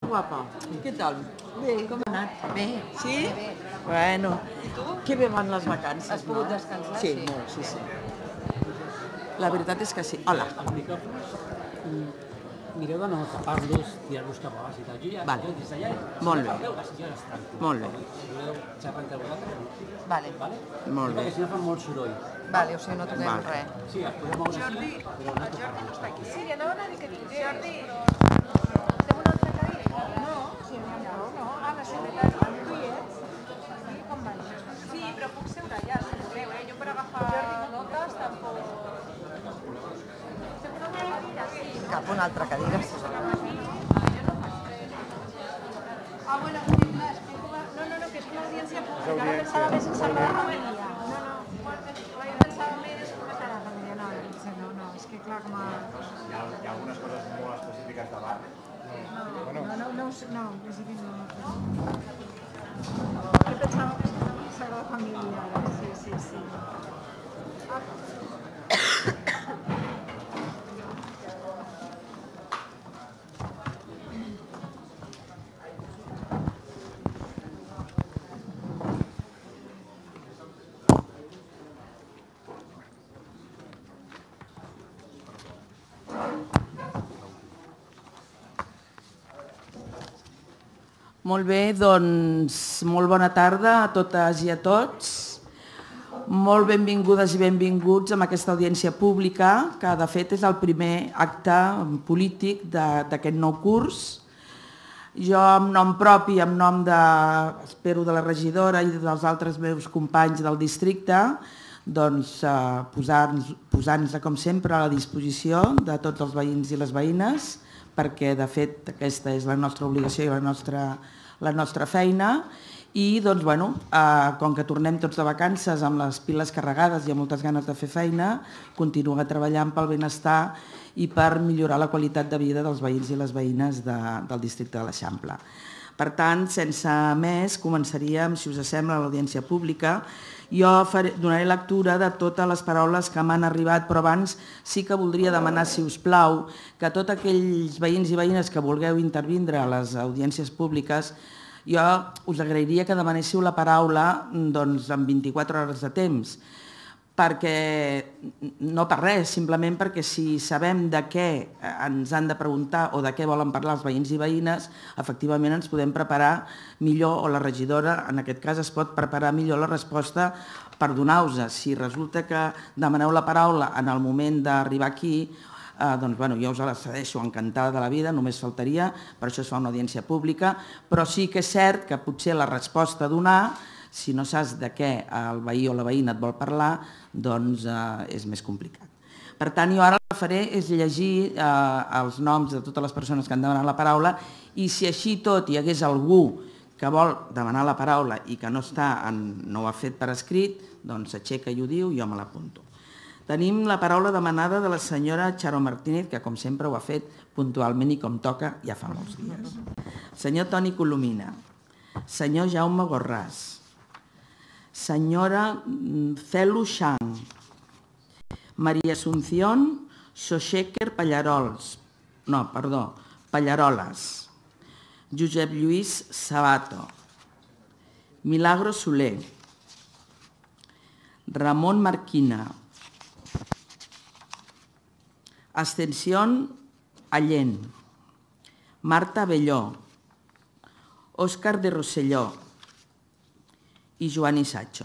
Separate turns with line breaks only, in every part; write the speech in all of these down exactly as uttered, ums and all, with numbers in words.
Guapa, què tal?
Bé, com ha anat?
Bé, sí?
Bé.
Bueno,
I tu?
que bé van les vacances,
Has pogut descansar?
Sí, molt, sí, sí. La veritat és que sí. Hola.
Els micròfons, mireu de no tapar-los, tirar-los cap a baix i tal. Jo ja,
Vale.
jo des d'allà,
Molt
si
bé.
no parleu, així ja és tranquil.
Molt bé.
Si voleu xerrar entre vosaltres,
Vale.
vale?
Molt bé.
Perquè si no fa molt soroll.
Vale, o sigui, no toquem
Vale.
res.
Sí, es podeu moure així, però no tocar-los.
Sí, li anaven a dir que vingués. Jordi, fem una altra cadira? No, si n'hi ha prou, no. Ah, la secretària, tu hi ets? Sí, com va? Sí, però puc seure allà, si voleu, eh? Jo per agafar notes tampoc... Fem una altra cadira, sí.
Cap una altra cadira.
Ah, bueno, clar, explico... No, no, no, que és una audiència pública. Ara pensava més en Sagrada Família. No, no, jo pensava més en Sagrada Família. No, no, no, és que clar, com a...
Hi ha, hi ha algunes coses molt específiques de bar.
No, no, no, no, no, és que no. Jo pensava que era una Sagrada Família, ara, sí, sí, sí.
Molt bé, doncs molt bona tarda a totes i a tots. Molt benvingudes i benvinguts a aquesta audiència pública, que de fet és el primer acte polític d'aquest nou curs. Jo, en nom propi, en nom de, espero, de la regidora i dels altres meus companys del districte, doncs posar-nos, posar-nos, com sempre, a la disposició de tots els veïns i les veïnes, perquè, de fet, aquesta és la nostra obligació i la nostra, la nostra feina. I, doncs, bueno, eh, com que tornem tots de vacances amb les piles carregades i amb moltes ganes de fer feina, continuar treballant pel benestar i per millorar la qualitat de vida dels veïns i les veïnes de, del districte de l'Eixample. Per tant, sense més, començaríem, si us sembla, l'audiència pública. Jo faré, donaré lectura de totes les paraules que m'han arribat, però abans sí que voldria demanar, si us plau, que tots aquells veïns i veïnes que vulgueu intervindre a les audiències públiques, jo us agrairia que demanéssiu la paraula doncs, en vint-i-quatre hores de temps, perquè no per res, simplement perquè si sabem de què ens han de preguntar o de què volen parlar els veïns i veïnes, efectivament ens podem preparar millor, o la regidora en aquest cas es pot preparar millor la resposta per donar-vos. Si resulta que demaneu la paraula en el moment d'arribar aquí, eh, doncs bueno, jo us la cedeixo encantada de la vida, només faltaria, per això es fa una audiència pública, però sí que és cert que potser la resposta a donar, si no saps de què el veí o la veïna et vol parlar, doncs eh, és més complicat. Per tant, jo ara el que faré és llegir eh, els noms de totes les persones que han demanat la paraula i si així tot hi hagués algú que vol demanar la paraula i que no, està en, no ho ha fet per escrit, doncs s'aixeca i ho diu i jo me l'apunto. Tenim la paraula demanada de la senyora Charo Martínez, que com sempre ho ha fet puntualment i com toca ja fa molts dies. Senyor Toni Colomina, senyor Jaume Gorràs, senyora Celu Xang, Maria Asunción Soxéquer Pallarols, no, perdó, Pallaroles, Josep Lluís Sabato, Milagro Soler, Ramon Marquina, Ascensión Allén, Marta Belló, Òscar de Rosselló i Joan Isatxo.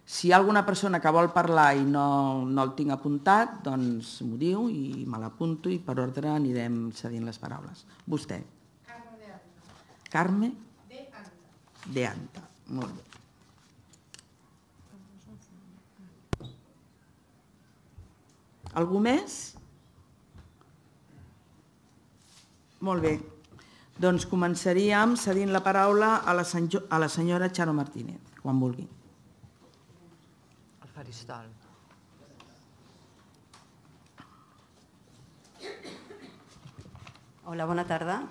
Si hi ha alguna persona que vol parlar i no, no el tinc apuntat, doncs m'ho diu i me l'apunto i per ordre anirem cedint les paraules. Vostè.
Carme de Anta.
Carme?
De Anta.
De Anta. Molt bé. Algú més? Molt bé. Doncs començaríem cedint la paraula a la, a la senyora Charo Martínez, quan vulgui.
El faristol.
Hola, bona tarda.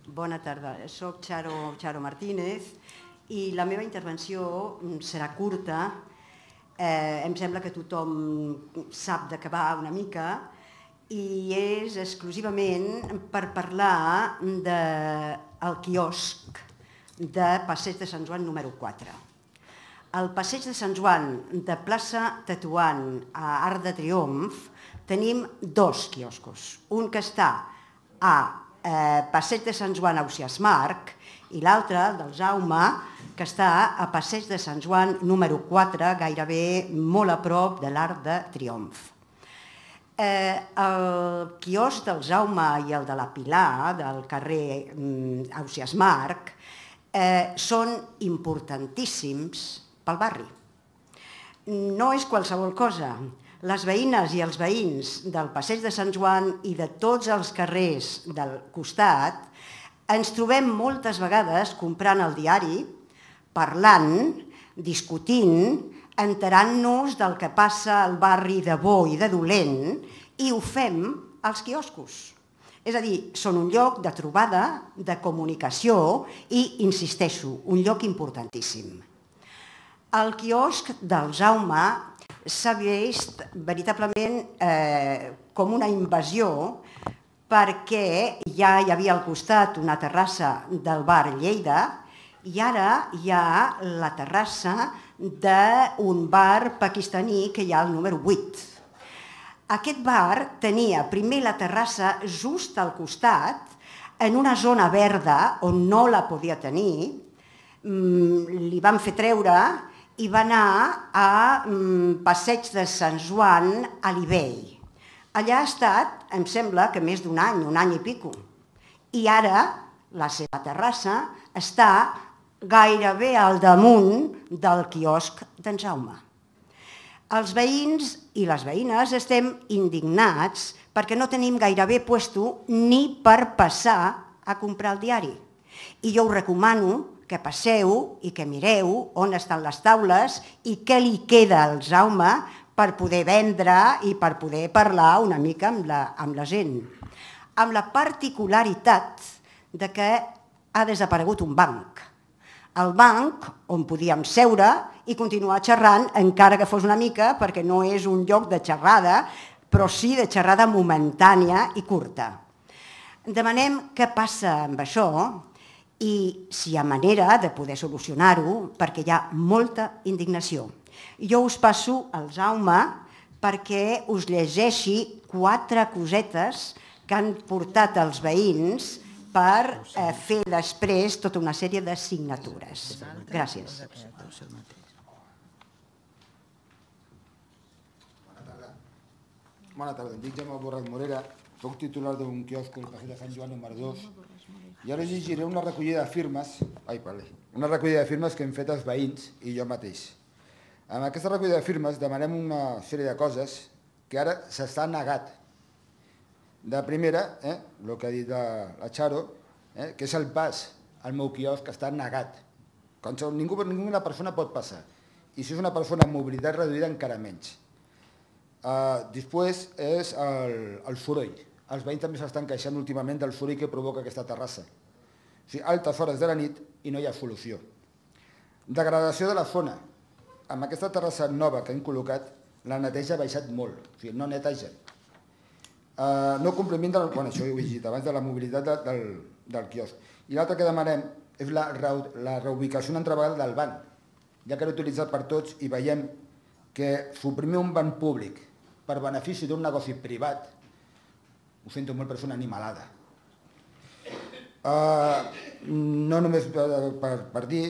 Bona tarda. Soc Charo, Charo Martínez i la meva intervenció serà curta. Eh, em sembla que tothom sap de què va una mica i és exclusivament per parlar de el quiosc de Passeig de Sant Joan número quatre. Al Passeig de Sant Joan de plaça Tetuan a Arc de Triomf tenim dos quioscos. Un que està a eh, Passeig de Sant Joan a Ausiàs Marc i l'altre, el del Jaume, que està a Passeig de Sant Joan número quatre, gairebé molt a prop de l'Arc de Triomf. Eh, el quiosc del Jaume i el de la Pilar, del carrer mm, Ausiàs Marc, eh, són importantíssims pel barri. No és qualsevol cosa. Les veïnes i els veïns del Passeig de Sant Joan i de tots els carrers del costat ens trobem moltes vegades comprant el diari, parlant, discutint, enterant-nos del que passa al barri de bo i de dolent, i ho fem als quioscos. És a dir, són un lloc de trobada, de comunicació i, insisteixo, un lloc importantíssim. El quiosc del Jaume s'ha vist veritablement eh, com una invasió perquè ja hi havia al costat una terrassa del bar Lleida i ara hi ha la terrassa d'un bar pakistaní que hi ha al número vuit. Aquest bar tenia primer la terrassa just al costat, en una zona verda on no la podia tenir, li van fer treure i va anar a Passeig de Sant Joan a l'Ibell. Allà ha estat, em sembla, que més d'un any, un any i pico. I ara la seva terrassa està gairebé al damunt del quiosc d'en Jaume. Els veïns i les veïnes estem indignats perquè no tenim gairebé puesto ni per passar a comprar el diari. I jo us recomano que passeu i que mireu on estan les taules i què li queda al Jaume per poder vendre i per poder parlar una mica amb la, amb la gent. Amb la particularitat de que ha desaparegut un banc. El banc on podíem seure i continuar xerrant, encara que fos una mica, perquè no és un lloc de xerrada, però sí de xerrada momentània i curta. Demanem què passa amb això i si hi ha manera de poder solucionar-ho, perquè hi ha molta indignació. Jo us passo al Jaume perquè us llegeixi quatre cosetes que han portat els veïns per eh, fer després tota una sèrie de signatures. Gràcies.
Bona tarda, em dic Jaume Borràs Morera, soc titular d'un quiosc al Passeig de Sant Joan número dos i ara llegiré una recollida de firmes, ai, vale, una recollida de firmes que hem fet els veïns i jo mateix. En aquesta recollida de firmes demanem una sèrie de coses que ara s'està negat. De primera, eh, el que ha dit la, la Charo, eh, que és el pas al meu quiosc que està negat. Quan ningú, ninguna persona pot passar. I si és una persona amb mobilitat reduïda, encara menys. Uh, després és el, el soroll. Els veïns també s'estan queixant últimament del soroll que provoca aquesta terrassa. O sigui, altes hores de la nit i no hi ha solució. Degradació de la zona. Amb aquesta terrassa nova que hem col·locat, la neteja ha baixat molt. O sigui, no neteja. Uh, no compliment del, bueno, això ho he llegit abans, de la mobilitat de, del, del quiosc. I l'altre que demanem és la, la reubicació una altra vegada del banc, ja que l'he utilitzat per tots i veiem que suprimir un banc públic per benefici d'un negoci privat, ho sento molt, però és una animalada. Uh, no només per, per, per dir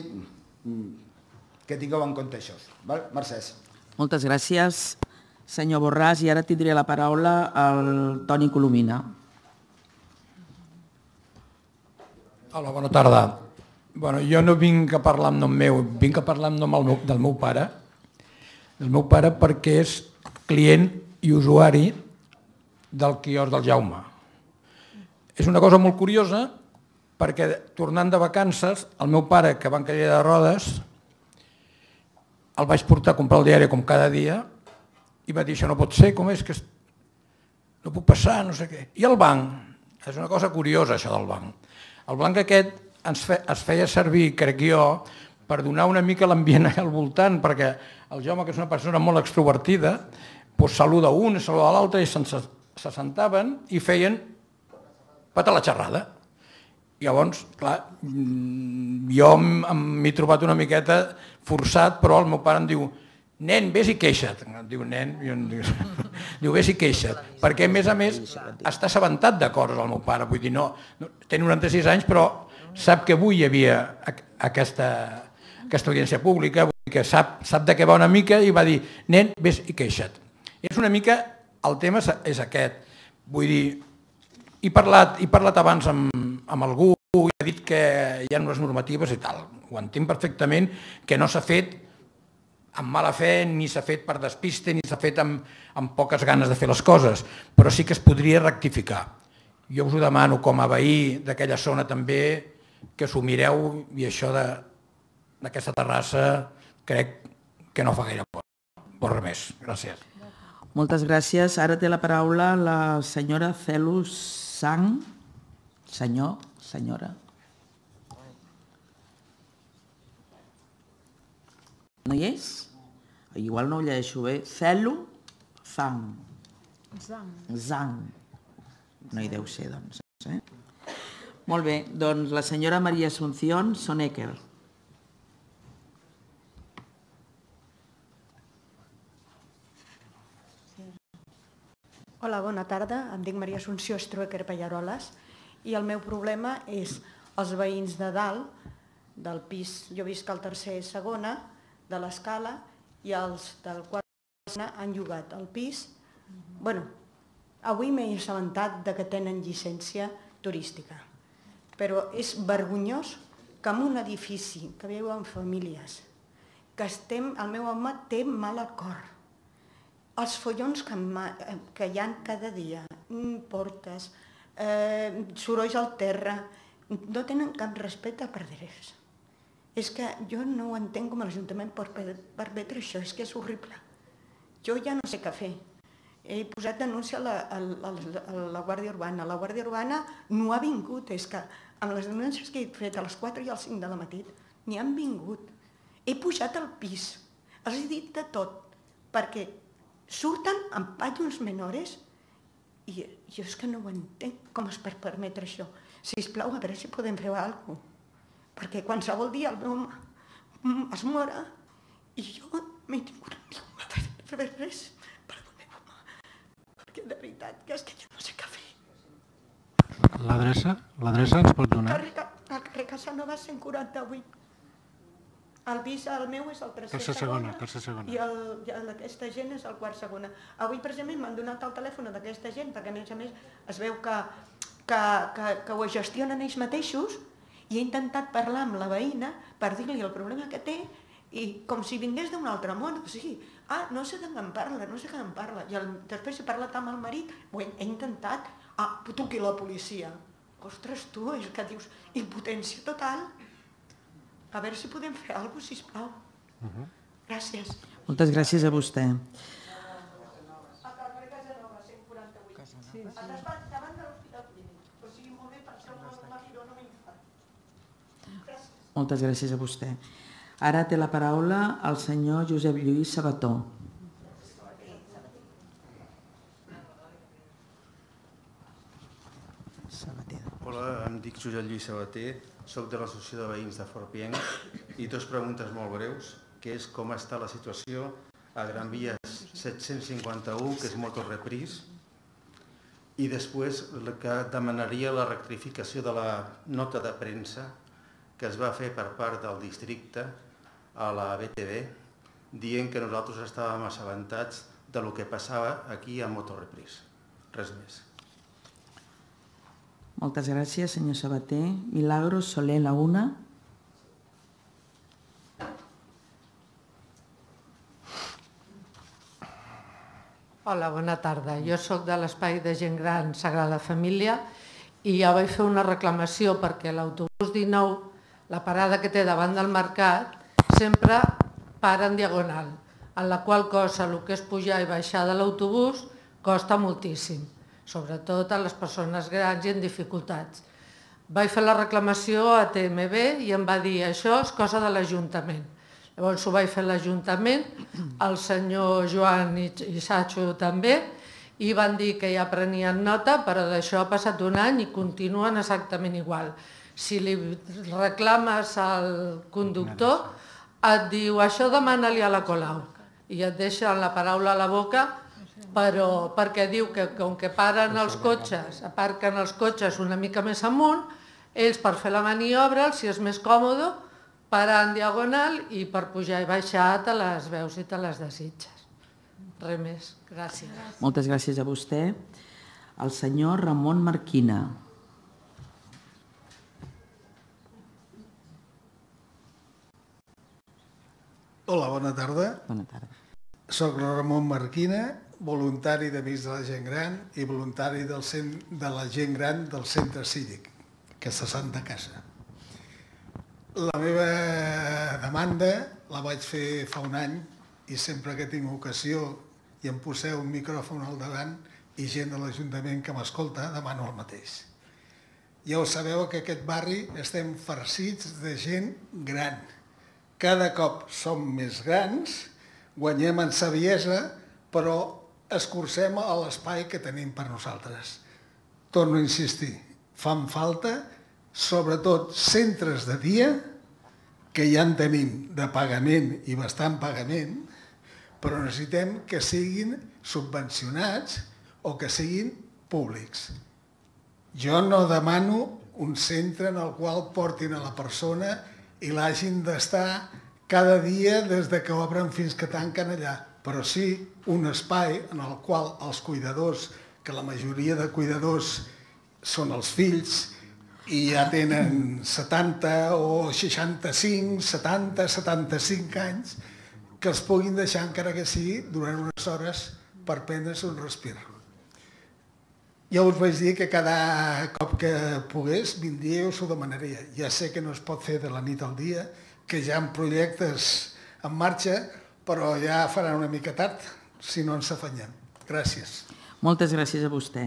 que tingueu en compte això. Val? Mercès.
Moltes gràcies, senyor Borràs, i ara tindré la paraula al Toni Colomina.
Hola, bona tarda. Bueno, jo no vinc a parlar en nom meu, vinc a parlar en nom meu, del meu pare, del meu pare perquè és client i usuari del quiosc del Jaume. És una cosa molt curiosa perquè tornant de vacances, el meu pare, que va en cadira de rodes, el vaig portar a comprar el diari com cada dia i va dir, això no pot ser, com és que no puc passar, no sé què. I el banc, és una cosa curiosa això del banc. El banc aquest ens fe, es feia servir, crec jo, per donar una mica l'ambient al voltant, perquè el Jaume, que és una persona molt extrovertida, doncs saluda un, saluda l'altre, i se sentaven i feien pata la xerrada. Llavors, clar, jo m'he trobat una miqueta forçat, però el meu pare em diu nen, vés i queixa't. Em diu nen, i em diu, diu vés i queixa't, perquè a més a més està assabentat de coses el meu pare, vull dir, no, té noranta-sis anys, però sap que avui hi havia aquesta, aquesta audiència pública, vull dir que sap, sap de què va una mica i va dir, nen, vés i queixa't. És una mica, el tema és aquest, vull dir, he parlat, he parlat abans amb, amb algú i ha dit que hi ha unes normatives i tal, ho entenc perfectament, que no s'ha fet amb mala fe, ni s'ha fet per despiste, ni s'ha fet amb, amb poques ganes de fer les coses, però sí que es podria rectificar. Jo us ho demano com a veí d'aquella zona també, que s'ho mireu i això d'aquesta terrassa crec que no fa gaire por. Por res més. Gràcies.
Moltes gràcies. Ara té la paraula la senyora Celus Sang. Senyor, senyora. No hi és? Igual no ho llegeixo bé. Celu Zang.
Zang.
Zang. No hi deu ser, doncs. Eh? Molt bé, doncs la senyora Maria Asunción Sonecker.
Hola, bona tarda. Em dic Maria Assumpció Struecker Pallaroles i el meu problema és els veïns de dalt, del pis, jo visc al tercer i segona, de l'escala, i els del quart i segona han llogat el pis. Bueno, avui m'he assabentat que tenen llicència turística, però és vergonyós que en un edifici que viuen famílies, que estem, el meu home té mal acord, els follons que, que hi ha cada dia, portes, eh, sorolls al terra, no tenen cap respecte per res. És que jo no ho entenc com l'Ajuntament pot permetre això, és que és horrible. Jo ja no sé què fer. He posat denúncia a la, a la, a la Guàrdia Urbana. La Guàrdia Urbana no ha vingut, és que amb les denúncies que he fet a les quatre i a les cinc de la matí n'hi han vingut. He pujat al pis, els he dit de tot, perquè surten amb pallons menores i jo és que no ho entenc, com es pot permetre això. Sisplau, a veure si podem fer alguna cosa, perquè qualsevol dia el meu home es mora i jo m'he tingut a fer res per el meu home, perquè de veritat que és que jo no sé què fer.
L'adreça? L'adreça ens pot donar?
Al carrer Casanova cent quaranta-vuit. El pis, el meu és el tercer
Tercer
segona,
segona, tercer segona.
i el d'aquesta gent és el quart segona. Avui precisament m'han donat el telèfon d'aquesta gent perquè a més a més es veu que, que, que, que ho gestionen ells mateixos i he intentat parlar amb la veïna per dir-li el problema que té i com si vingués d'un altre món, o sigui, ah, no sé de què em parla, no sé què em parla. I el, després he parlat amb el marit, ho he, he intentat, ah, truqui la policia. Ostres, tu, és que dius, impotència total. A veure si podem fer alguna cosa, sisplau. Uh-huh. Gràcies.
Moltes gràcies a vostè.
A carrer Casanova, cent quaranta-vuit. Sí, sí. Davant de l'Hospital Clínic. O sigui, molt bé, per ser un martiró no m'infart. Gràcies.
Moltes gràcies a vostè. Ara té la paraula el senyor Josep Lluís Sabató.
Hola, em dic Josep Lluís Sabater, soc de l'Associació de Veïns de Forpienc i dues preguntes molt breus, que és com està la situació a Gran Via set-cents cinquanta-u, que és Motorrepris, i després que demanaria la rectificació de la nota de premsa que es va fer per part del districte a la B T V, dient que nosaltres estàvem assabentats de lo que passava aquí a Motorrepris. Res més.
Moltes gràcies, senyor Sabater. Milagros Soler Laguna.
Hola, bona tarda. Jo sóc de l'Espai de Gent Gran Sagrada Família i ja vaig fer una reclamació perquè l'autobús dinou, la parada que té davant del mercat, sempre para en diagonal, en la qual cosa el que és pujar i baixar de l'autobús costa moltíssim, sobretot a les persones grans i en dificultats. Vaig fer la reclamació a T M B i em va dir això és cosa de l'Ajuntament. Llavors ho vaig fer a l'Ajuntament, el senyor Joan i Sacho també, i van dir que ja prenien nota, però d'això ha passat un any i continuen exactament igual. si li reclames al conductor, et diu això demana-li a la Colau i et deixa la paraula a la boca, però perquè diu que com que paren els cotxes, aparquen els cotxes una mica més amunt, ells per fer la maniobra, si és més còmode, parar en diagonal i per pujar i baixar te les veus i te les desitges. Res més, gràcies.
Moltes gràcies a vostè. El senyor Ramon Marquina.
Hola, bona tarda.
Bona tarda.
Soc Ramon Marquina, voluntari d'Amics de la Gent Gran i voluntari del cent, de la gent gran del Centre Cívic, que és a Santa Casa. La meva demanda la vaig fer fa un any i sempre que tinc ocasió i em poseu un micròfon al davant i gent de l'Ajuntament que m'escolta, demano el mateix. Ja ho sabeu que aquest barri estem farcits de gent gran. Cada cop som més grans, guanyem en saviesa, però escurcem a l'espai que tenim per nosaltres. Torno a insistir, fan falta, sobretot centres de dia, que ja en tenim de pagament i bastant pagament, però necessitem que siguin subvencionats o que siguin públics. Jo no demano un centre en el qual portin a la persona i l'hagin d'estar cada dia des que obren fins que tanquen allà, però sí un espai en el qual els cuidadors, que la majoria de cuidadors són els fills i ja tenen setanta o seixanta-cinc, setanta, setanta-cinc anys, que els puguin deixar encara que sigui durant unes hores per prendre's un respir. Ja us vaig dir que cada cop que pogués vindria i us ho demanaria. Ja sé que no es pot fer de la nit al dia, que hi ha projectes en marxa, però ja farà una mica tard si no ens afanyem. Gràcies.
Moltes gràcies a vostè.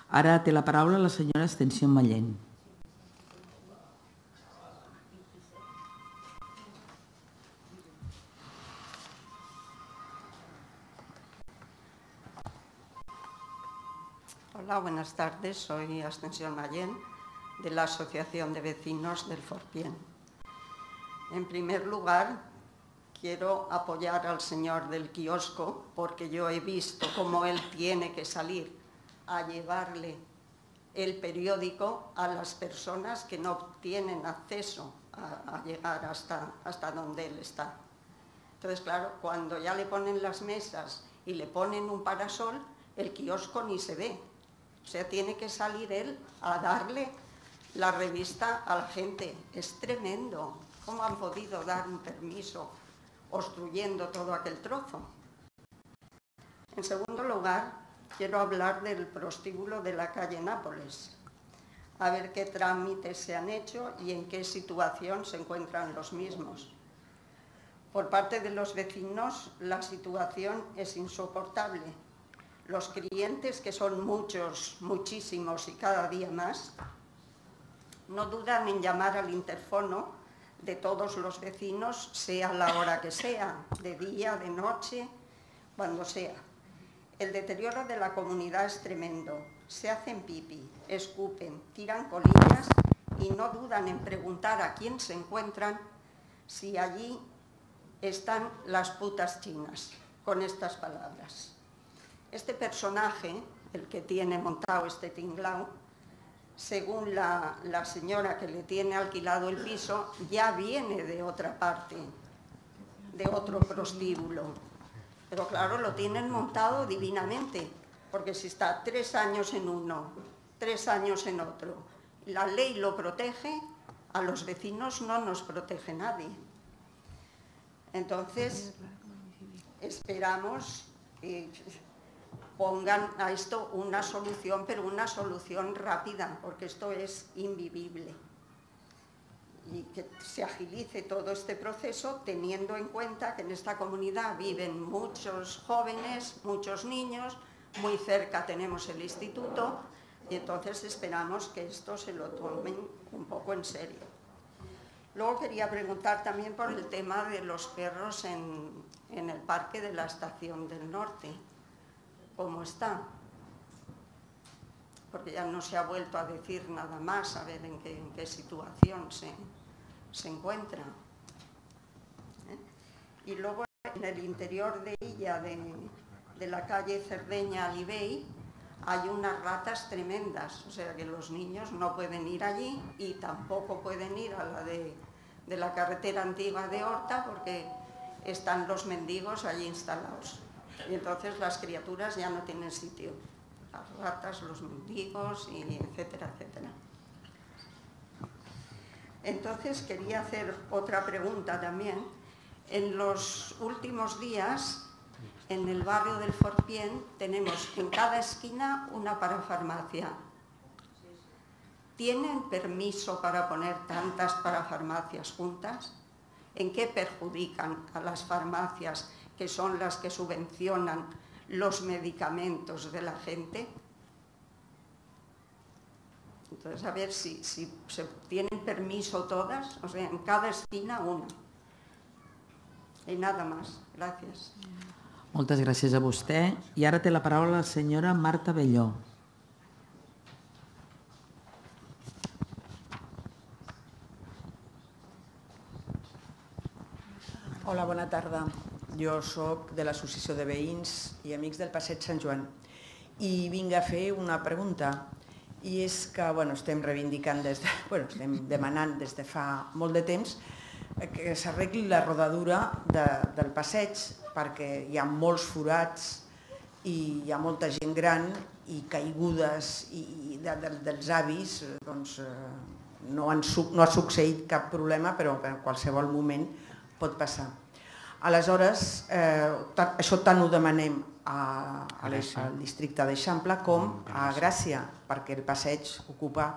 Ara té la paraula la senyora Extensión Mallén.
Hola, buenas tardes. Soy Extensión Mallén, de la Asociación de Vecinos del Forpién. En primer lugar, quiero apoyar al señor del kiosco, porque yo he visto cómo él tiene que salir a llevarle el periódico a las personas que no tienen acceso a, a llegar hasta, hasta donde él está. Entonces, claro, cuando ya le ponen las mesas y le ponen un parasol, el kiosco ni se ve. O sea, tiene que salir él a darle la revista a la gente. Es tremendo. ¿Cómo han podido dar un permiso obstruyendo todo aquel trozo? En segundo lugar, quiero hablar del prostíbulo de la calle Nápoles. A ver qué trámites se han hecho y en qué situación se encuentran los mismos. Por parte de los vecinos, la situación es insoportable. Los clientes, que son muchos, muchísimos y cada día más, no dudan en llamar al interfono de todos los vecinos, sea la hora que sea, de día, de noche, cuando sea. El deterioro de la comunidad es tremendo. Se hacen pipí, escupen, tiran colillas y no dudan en preguntar a quién se encuentran si allí están las putas chinas, con estas palabras. Este personaje, el que tiene montado este tinglao, según la, la señora que le tiene alquilado el piso, ya viene de otra parte, de otro prostíbulo. Pero claro, lo tienen montado divinamente, porque si está tres años en uno, tres años en otro, la ley lo protege, a los vecinos no nos protege nadie. Entonces, esperamos que pongan a esto una solución, pero una solución rápida, porque esto es invivible. Y que se agilice todo este proceso teniendo en cuenta que en esta comunidad viven muchos jóvenes, muchos niños, muy cerca tenemos el instituto y entonces esperamos que esto se lo tomen un poco en serio. Luego quería preguntar también por el tema de los perros en, en el parque de la Estación del Norte. ¿Cómo está? porque ya no se ha vuelto a decir nada más, a ver en qué, en qué situación se, se encuentra. ¿Eh? Y luego en el interior de ella, de, de la calle Cerdeña-Alibey, hay unas ratas tremendas, o sea que los niños no pueden ir allí y tampoco pueden ir a la de, de la carretera antigua de Horta porque están los mendigos allí instalados. Y entonces las criaturas ya no tienen sitio. Las ratas, los mendigos, y etcétera, etcétera. Entonces quería hacer otra pregunta también. En los últimos días, en el barrio del Forpién, tenemos en cada esquina una parafarmacia. ¿Tienen permiso para poner tantas parafarmacias juntas? ¿En qué perjudican a las farmacias, que son las que subvencionan los medicamentos de la gente? Entonces, a ver si, si se tienen permiso todas, o sea, en cada esquina una. I nada más. Gràcies.
Moltes gràcies a vostè. I ara té la paraula la senyora Marta Belló.
Hola, bona tarda. Jo sóc de l'Associació de Veïns i Amics del Passeig Sant Joan i vinc a fer una pregunta. I és que bueno, estem reivindicant, des de, bueno, estem demanant des de fa molt de temps que s'arregli la rodadura de, del passeig perquè hi ha molts forats i hi ha molta gent gran i caigudes i, i de, de, dels avis, doncs, no, han, no ha succeït cap problema, però en qualsevol moment pot passar. Aleshores, eh, això tant ho demanem a, a les, al districte d'Eixample com a Gràcia, perquè el passeig ocupa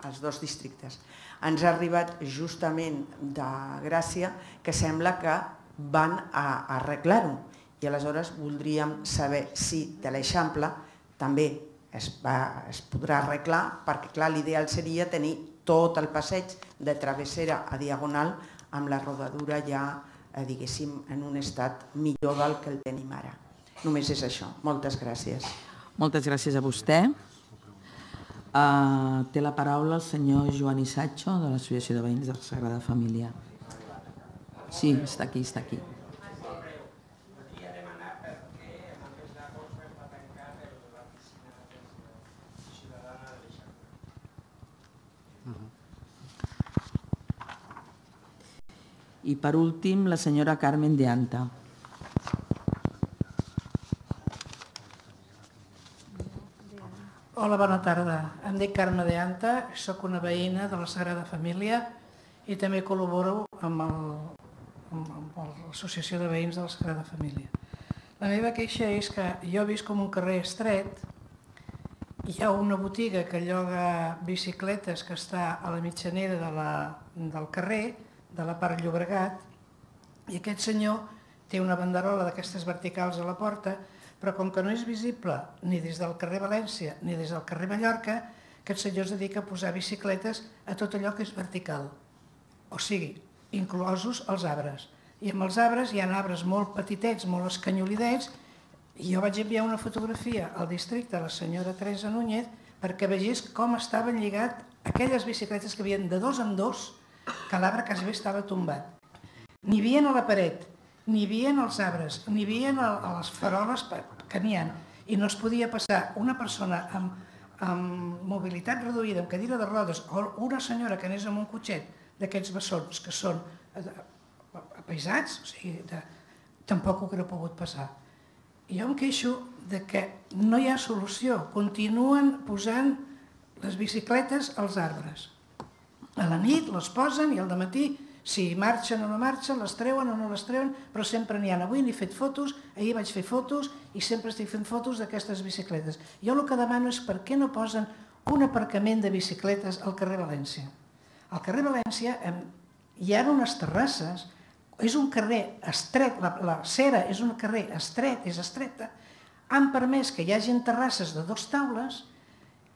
els dos districtes. Ens ha arribat justament de Gràcia que sembla que van a, a arreglar-ho i aleshores voldríem saber si de l'Eixample també es, va, es podrà arreglar, perquè clar, l'ideal seria tenir tot el passeig de travessera a diagonal amb la rodadura ja diguéssim, en un estat millor del que el tenim ara. Només és això. Moltes gràcies.
Moltes gràcies a vostè. Uh, té la paraula el senyor Joan Isatxo, de l'Associació de Veïns de la Sagrada Família. Sí, està aquí, està aquí. I per últim, la senyora Carmen de Anta.
Hola, bona tarda. Em dic Carme de Anta, soc una veïna de la Sagrada Família i també col·laboro amb l'Associació de Veïns de la Sagrada Família. La meva queixa és que jo visc com un carrer estret, hi ha una botiga que lloga bicicletes que està a la mitjanera de la, del carrer, de la part Llobregat, i aquest senyor té una banderola d'aquestes verticals a la porta, però com que no és visible ni des del carrer València ni des del carrer Mallorca, aquest senyor es dedica a posar bicicletes a tot allò que és vertical, o sigui, inclosos els arbres. I amb els arbres hi ha arbres molt petitets, molt escanyolidets, i jo vaig enviar una fotografia al districte a la senyora Teresa Núñez perquè vegés com estaven lligat aquelles bicicletes que havien de dos en dos, que l'arbre quasi bé estava tombat. N'hi havia a la paret, n'hi havia als arbres, n'hi havia a les faroles que n'hi ha, i no es podia passar una persona amb, amb mobilitat reduïda, amb cadira de rodes, o una senyora que anés amb un cotxet d'aquests bessons que són apaisats, o sigui, de, tampoc ho hauria pogut passar. I jo em queixo de que no hi ha solució, continuen posant les bicicletes als arbres. A la nit les posen i al dematí, si marxen o no marxen, les treuen o no les treuen, però sempre n'hi ha. Avui n'he fet fotos, ahir vaig fer fotos i sempre estic fent fotos d'aquestes bicicletes. Jo el que demano és per què no posen un aparcament de bicicletes al carrer València. Al carrer València hi ha unes terrasses, és un carrer estret, la, la Cera és un carrer estret, és estreta, han permès que hi hagi terrasses de dues taules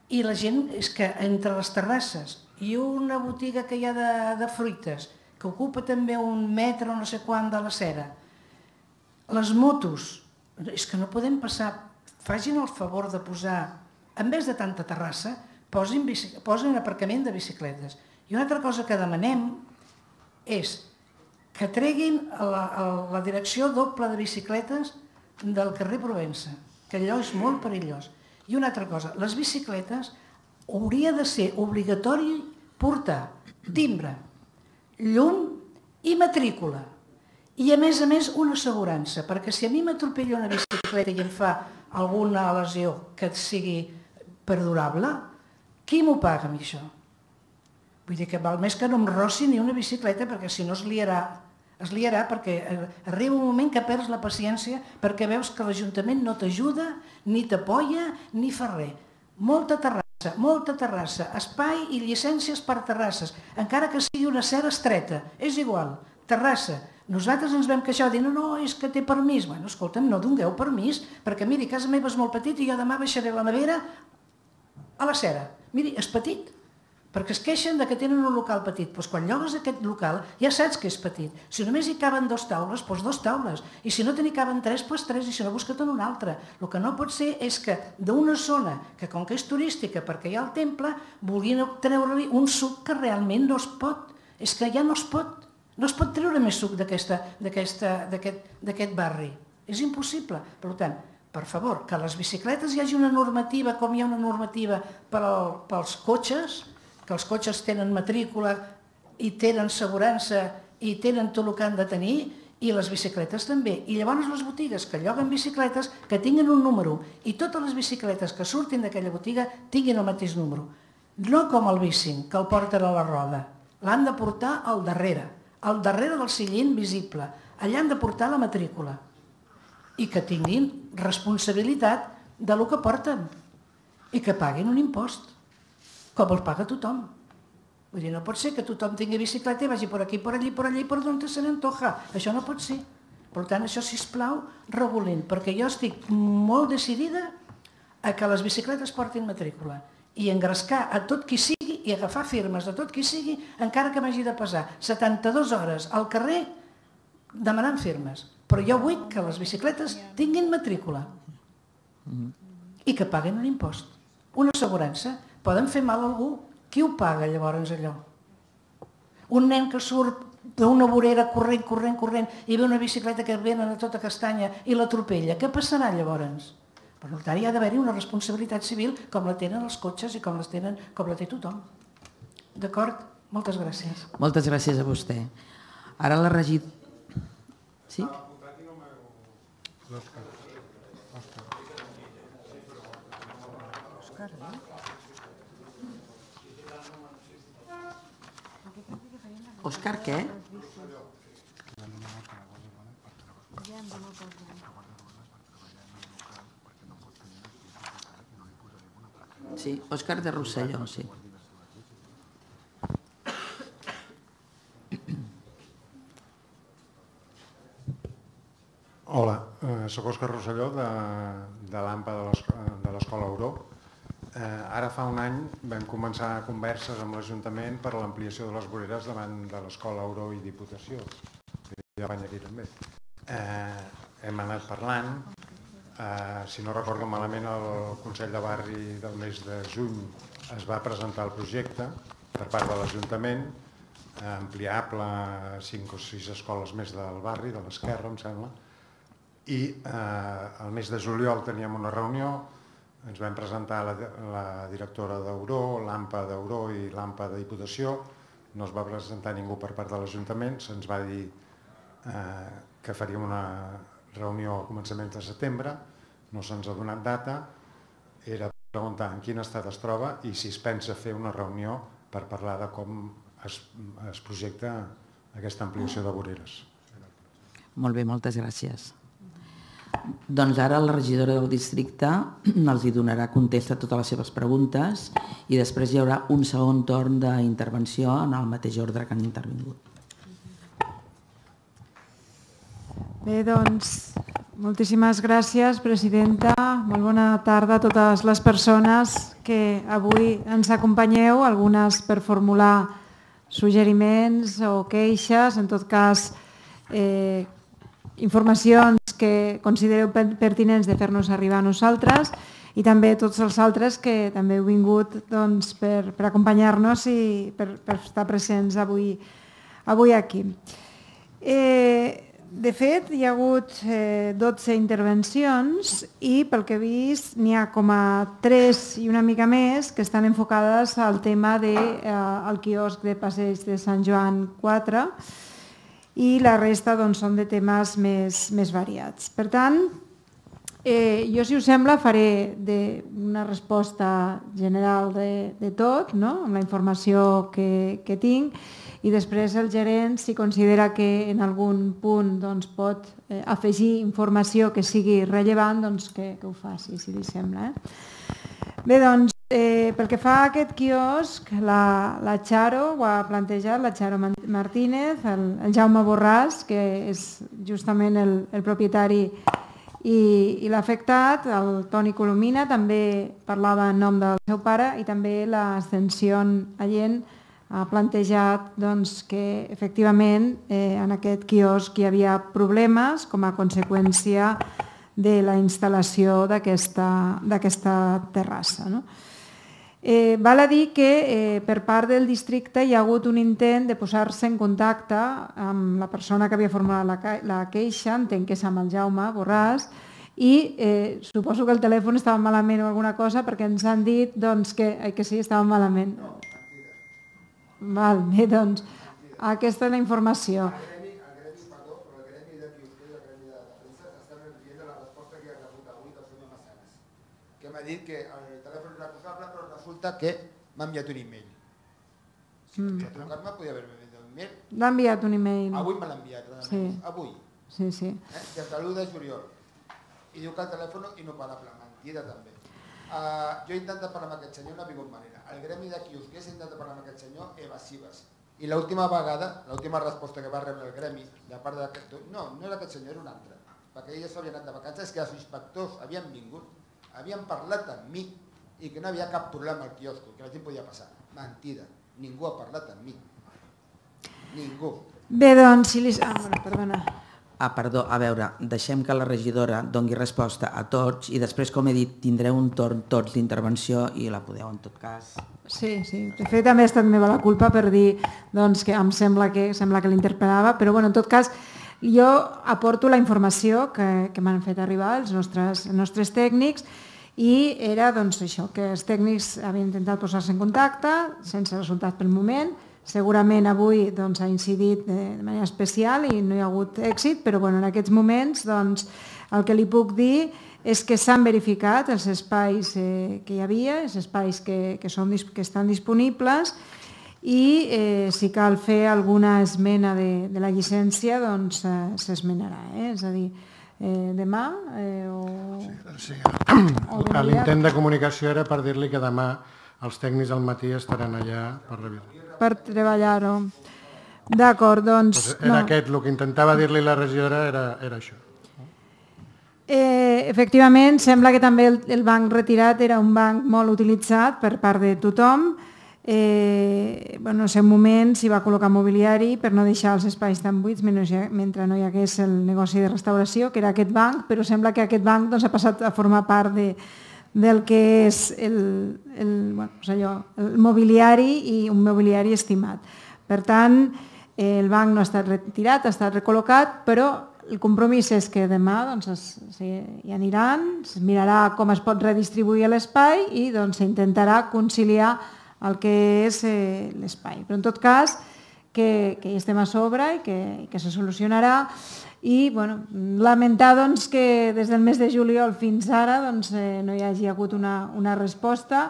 i la gent és que entre les terrasses i una botiga que hi ha de, de fruites, que ocupa també un metre o no sé quant de la Cera. Les motos, és que no podem passar, facin el favor de posar en vez de tanta terrassa, posin, posin aparcament de bicicletes. I una altra cosa que demanem és que treguin la, la direcció doble de bicicletes del carrer Provença, que allò és molt perillós. I una altra cosa, les bicicletes hauria de ser obligatori portar timbre, llum i matrícula. I a més a més una assegurança, perquè si a mi m'atropella una bicicleta i em fa alguna lesió que sigui perdurable, qui m'ho paga amb això? Vull dir que val més que no em rossi ni una bicicleta, perquè si no es liarà. Es liarà perquè arriba un moment que perds la paciència perquè veus que l'Ajuntament no t'ajuda, ni t'apoya, ni fa res. Molta terrassa, molta terrassa, espai i llicències per terrasses, encara que sigui una cera estreta, és igual, terrassa. Nosaltres ens vam queixar dient, no, no, és que té permís. Bueno, escolta'm, no dongueu permís, perquè miri, casa meva és molt petit i jo demà baixaré la nevera a la cera. Miri, és petit, perquè es queixen que tenen un local petit. Doncs quan llogues aquest local ja saps que és petit. Si només hi caben dos taules, doncs dos taules. I si no te n'hi caben tres, doncs tres, i si no, busca't una altra. El que no pot ser és que d'una zona, que com que és turística perquè hi ha el temple, vulguin treure-li un suc que realment no es pot. És que ja no es pot. No es pot treure més suc d'aquest barri. És impossible. Per tant, per favor, que a les bicicletes hi hagi una normativa, com hi ha una normativa pels cotxes, que els cotxes tenen matrícula i tenen assegurança i tenen tot el que han de tenir, i les bicicletes també. I llavors les botigues que lloguen bicicletes que tinguin un número i totes les bicicletes que surtin d'aquella botiga tinguin el mateix número. No com el bicing, que el porten a la roda. L'han de portar al darrere, al darrere del sillín visible. Allà han de portar la matrícula i que tinguin responsabilitat del que porten i que paguin un impost, com el paga tothom. Vull dir, no pot ser que tothom tingui bicicleta i vagi per aquí, per allí, per allí, per on se n'antoja. Això no pot ser. Per tant, això, sisplau, regulin, perquè jo estic molt decidida a que les bicicletes portin matrícula i engrescar a tot qui sigui i agafar firmes de tot qui sigui, encara que m'hagi de passar setanta-dues hores al carrer demanant firmes. Però jo vull que les bicicletes tinguin matrícula i que paguen un impost, una assegurança. Poden fer mal a algú. Qui ho paga llavors allò? Un nen que surt d'una vorera corrent, corrent, corrent i ve una bicicleta que venen a tota castanya i l'atropella. Què passarà llavors? Per tant, hi ha d'haver-hi una responsabilitat civil com la tenen els cotxes i com la té tothom. D'acord? Moltes gràcies.
Moltes gràcies a vostè. Ara la regidora... Sí? Òscar, què? Sí, Òscar de Rosselló, sí.
Hola, soc Òscar Rosselló de l'AMPA de l'Escola Auró. Ara fa un any vam començar converses amb l'Ajuntament per l'ampliació de les voreres davant de l'Escola Auró i Diputació. Ja vaig aquí també. Hem anat parlant. Si no recordo malament, el Consell de Barri del mes de juny es va presentar el projecte per part de l'Ajuntament, ampliable a cinc o sis escoles més del barri, de l'esquerra, em sembla. I el mes de juliol teníem una reunió, ens vam presentar la directora d'Auró, l'AMPA d'Auró i l'AMPA de Diputació. No es va presentar ningú per part de l'Ajuntament, se'ns va dir que faríem una reunió a començaments de setembre, no se'ns ha donat data, era preguntar en quin estat es troba i si es pensa fer una reunió per parlar de com es projecta aquesta ampliació de voreres.
Molt bé, moltes gràcies. Doncs ara la regidora del districte els hi donarà contesta a totes les seves preguntes i després hi haurà un segon torn d'intervenció en el mateix ordre que han intervingut.
Bé, doncs, moltíssimes gràcies, presidenta. Molt bona tarda a totes les persones que avui ens acompanyeu, algunes per formular suggeriments o queixes, en tot cas, informacions que considereu pertinents de fer-nos arribar a nosaltres
i també tots els altres que també heu vingut doncs, per, per acompanyar-nos i per, per estar presents avui, avui aquí. Eh, de fet, hi ha hagut eh, dotze intervencions i pel que he vist n'hi ha com a tres i una mica més que estan enfocades al tema del de, eh, quiosc de Passeig de Sant Joan quatre i la resta doncs, són de temes més, més variats. Per tant, eh, jo, si us sembla, faré de una resposta general de, de tot, no? Amb la informació que, que tinc, i després el gerent, si considera que en algun punt doncs, pot eh, afegir informació que sigui rellevant, doncs que, que ho faci, si li sembla. Eh? Bé, doncs, eh, pel que fa a aquest quiosc, la, la Charo ho ha plantejat, la Charo Martínez, el, el Jaume Borràs, que és justament el, el propietari i, i l'afectat, el Toni Colomina, també parlava en nom del seu pare, i també l'Ascensión Allén, ha plantejat doncs, que efectivament eh, en aquest quiosc hi havia problemes com a conseqüència de la instal·lació d'aquesta terrassa. No? Eh, val a dir que eh, per part del districte hi ha hagut un intent de posar-se en contacte amb la persona que havia formulat la, la queixa, entenc que és amb el Jaume Borràs, i eh, suposo que el telèfon estava malament o alguna cosa perquè ens han dit doncs, que, eh, que sí, estava malament. Val, bé, doncs, aquesta és la informació.
Que m'ha dit que el telèfon era acusable, però resulta que m'ha enviat un e-mail. Si mm. trucar-me, podia haver-me enviat un e-mail.
L'ha enviat un e-mail.
Avui me l'ha enviat,
sí.
Avui.
Sí, sí.
Eh? Des de l'u de juliol. I diu que el telèfon inoperable, mentida també. Uh, jo he intentat parlar amb aquest senyor, no ha vingut manera. El gremi de quiosquers he intentat parlar amb aquest senyor, evasives. I l'última vegada, l'última resposta que va rebre el gremi, de part d'aquest... No, no era aquest senyor, era un altre. Perquè ells s'havien anat de vacances, que els inspectors havien vingut, havien parlat amb mi i que no havia cap problema al quiosco, que la gent podia passar. Mentida, ningú ha parlat amb mi. Ningú.
Bé, doncs, si li... Ah, bueno, perdona.
Ah, perdó, a veure, deixem que la regidora doni resposta a tots i després, com he dit, tindreu un torn tots d'intervenció i la podeu, en tot cas...
Sí, sí. De fet, també ha estat meva la culpa per dir doncs, que em sembla que, sembla que l'interpel·lava, però bueno, en tot cas, jo aporto la informació que, que m'han fet arribar els nostres, els nostres tècnics i era doncs, això, que els tècnics havien intentat posar-se en contacte, sense resultat pel moment. Segurament avui doncs, ha incidit de, de manera especial i no hi ha hagut èxit, però bueno, en aquests moments doncs, el que li puc dir és que s'han verificat els espais eh, que hi havia, els espais que, que, són, que estan disponibles i eh, si cal fer alguna esmena de, de la llicència doncs eh, s'esmenarà. Eh? És a dir, eh, demà eh, o...
Sí, sí. L'intent de comunicació era per dir-li que demà els tècnics al matí estaran allà per revisar.
Per treballar-ho. D'acord, doncs...
Pues era no. aquest, el que intentava dir-li la regidora era, era això.
Eh, efectivament, sembla que també el, el banc retirat era un banc molt utilitzat per part de tothom. Eh, bueno, en aquest moment s'hi va col·locar mobiliari per no deixar els espais tan buits mentre no hi hagués el negoci de restauració, que era aquest banc, però sembla que aquest banc doncs, ha passat a formar part de... del que és el, el, bueno, doncs allò, el mobiliari i un mobiliari estimat. Per tant, el banc no ha estat retirat, ha estat recol·locat, però el compromís és que demà doncs, es, es, hi aniran, es mirarà com es pot redistribuir l'espai i doncs, s'intentarà conciliar el que és eh, l'espai. Però en tot cas, que, que hi estem a sobre i que, que se solucionarà. I bueno, lamentar doncs, que des del mes de juliol fins ara doncs, eh, no hi hagi hagut una, una resposta.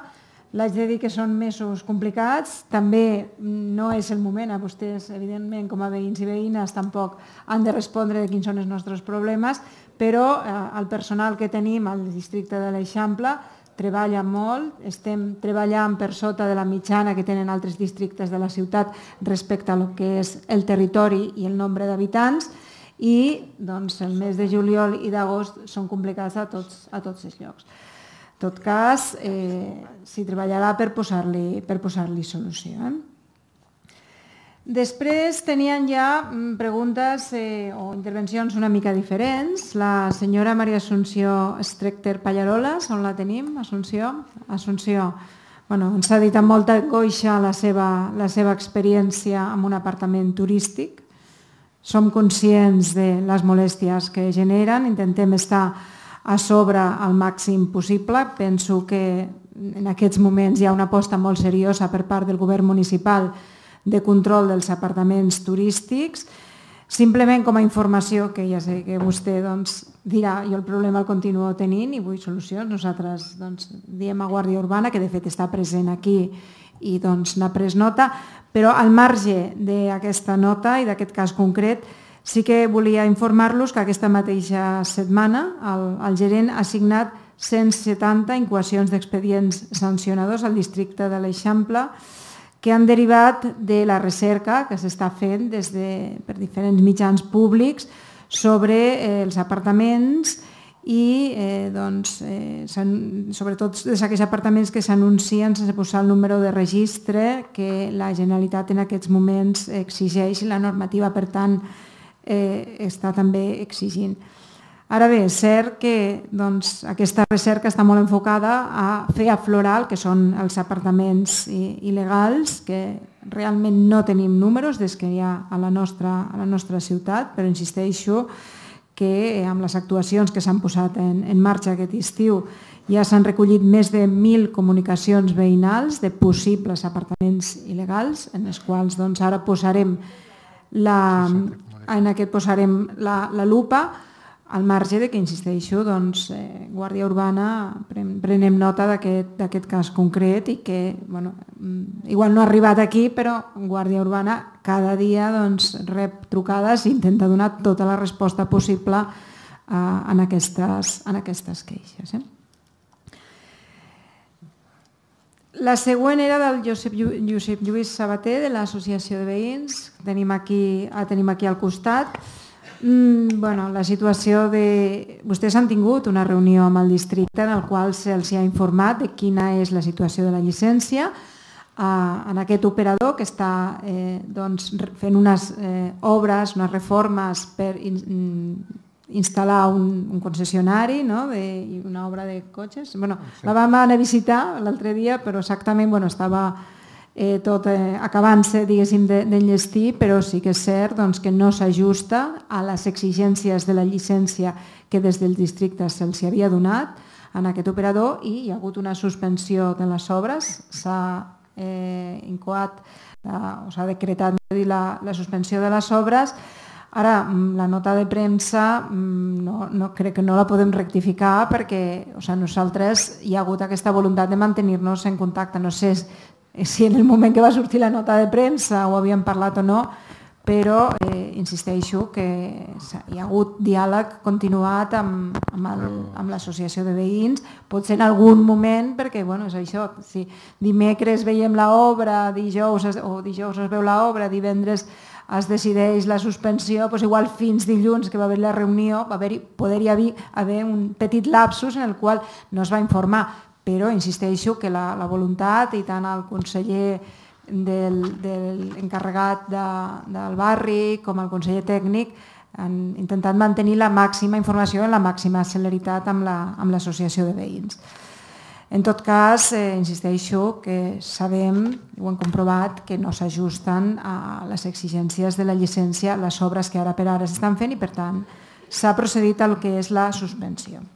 L'haig de dir que són mesos complicats, també no és el moment, a vostès, evidentment, com a veïns i veïnes, tampoc han de respondre de quins són els nostres problemes, però eh, el personal que tenim al districte de l'Eixample treballa molt, estem treballant per sota de la mitjana que tenen altres districtes de la ciutat respecte a lo que és el territori i el nombre d'habitants, i doncs, el mes de juliol i d'agost són complicats a tots, a tots els llocs. En tot cas, eh, s'hi treballarà per posar-li per posar-li solució. Eh? Després tenien ja preguntes eh, o intervencions una mica diferents. La senyora Maria Assumpció Strechter Pallarolas, on la tenim? Assumpció? Assumpció. Bueno, ens ha dit amb molta angoixa la seva, la seva experiència amb un apartament turístic. Som conscients de les molèsties que generen, intentem estar a sobre al màxim possible. Penso que en aquests moments hi ha una aposta molt seriosa per part del govern municipal de control dels apartaments turístics. Simplement com a informació, que ja sé que vostè doncs, dirà jo el problema el continuo tenint i vull solucions, nosaltres doncs, diem a Guàrdia Urbana, que de fet està present aquí i doncs, n'ha pres nota, però al marge d'aquesta nota i d'aquest cas concret, sí que volia informar-los que aquesta mateixa setmana el, el gerent ha signat cent setanta incoacions d'expedients sancionadors al districte de l'Eixample que han derivat de la recerca que s'està fent des de, per diferents mitjans públics sobre eh, els apartaments i eh, doncs, eh, sobretot d'aquells apartaments que s'anuncien sense posar el número de registre que la Generalitat en aquests moments exigeix i la normativa, per tant, eh, està també exigint. Ara bé, és cert que doncs, aquesta recerca està molt enfocada a fer aflorar el que són els apartaments il·legals, que realment no tenim números des que hi ha a la nostra, a la nostra ciutat, però insisteixo que amb les actuacions que s'han posat en, en marxa aquest estiu ja s'han recollit més de mil comunicacions veïnals de possibles apartaments il·legals, en els quals doncs, ara posarem la, en aquest posarem la, la lupa, al marge de que, insisteixo, doncs, eh, Guàrdia Urbana prenem nota d'aquest cas concret i que, bueno, igual no ha arribat aquí, però Guàrdia Urbana cada dia doncs, rep trucades i intenta donar tota la resposta possible eh, en, aquestes, en aquestes queixes. Eh? La següent era del Josep, Josep Lluís Sabater, de l'Associació de Veïns, tenim aquí, ah, tenim aquí al costat. Mm, bueno, la situació de... Vostès han tingut una reunió amb el districte en el qual se'ls ha informat de quina és la situació de la llicència eh, en aquest operador que està eh, doncs, fent unes eh, obres, unes reformes per in, instal·lar un, un concessionari, no? de, una obra de cotxes. Bueno, sí. La vam anar a visitar l'altre dia, però exactament bueno, estava... Eh, tot eh, acabant-se d'enllestir, però sí que és cert doncs, que no s'ajusta a les exigències de la llicència que des del districte se'ls havia donat en aquest operador i hi ha hagut una suspensió de les obres, s'ha eh, incoat eh, o s'ha decretat la, la suspensió de les obres. Ara, la nota de premsa no, no, crec que no la podem rectificar perquè o sigui, nosaltres hi ha hagut aquesta voluntat de mantenir-nos en contacte. No sé si en el moment que va sortir la nota de premsa ho havíem parlat o no, però eh, insisteixo que hi ha hagut diàleg continuat amb, amb, el, amb l'associació de veïns, potser en algun moment, perquè bueno, és això, si dimecres veiem l'obra, dijous o dijous es veu l'obra, divendres es decideix la suspensió, doncs igual fins dilluns que va haver la reunió va haver, poder-hi haver, haver un petit lapsus en el qual no es va informar, però insisteixo que la, la voluntat i tant el conseller del, del encarregat de, del barri com el conseller tècnic han intentat mantenir la màxima informació i la màxima celeritat amb l'associació la, de veïns. En tot cas, eh, insisteixo que sabem, ho hem comprovat, que no s'ajusten a les exigències de la llicència, les obres que ara per ara s'estan fent i per tant s'ha procedit al que és la suspensió.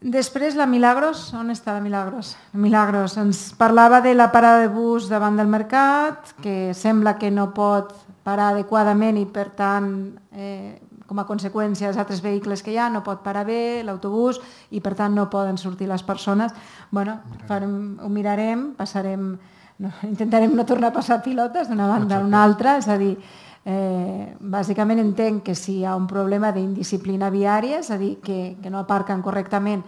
Després la Milagros, on està la Milagros? Milagros ens parlava de la parada de bus davant del mercat, que sembla que no pot parar adequadament i per tant, eh, com a conseqüència, els altres vehicles que hi ha no pot parar bé, l'autobús, i per tant no poden sortir les persones. Bueno, farem, ho mirarem, passarem, no, intentarem no tornar a passar pilotes d'una banda a una altra, és a dir, Eh, bàsicament entenc que si hi ha un problema d'indisciplina viària, és a dir, que, que no aparquen correctament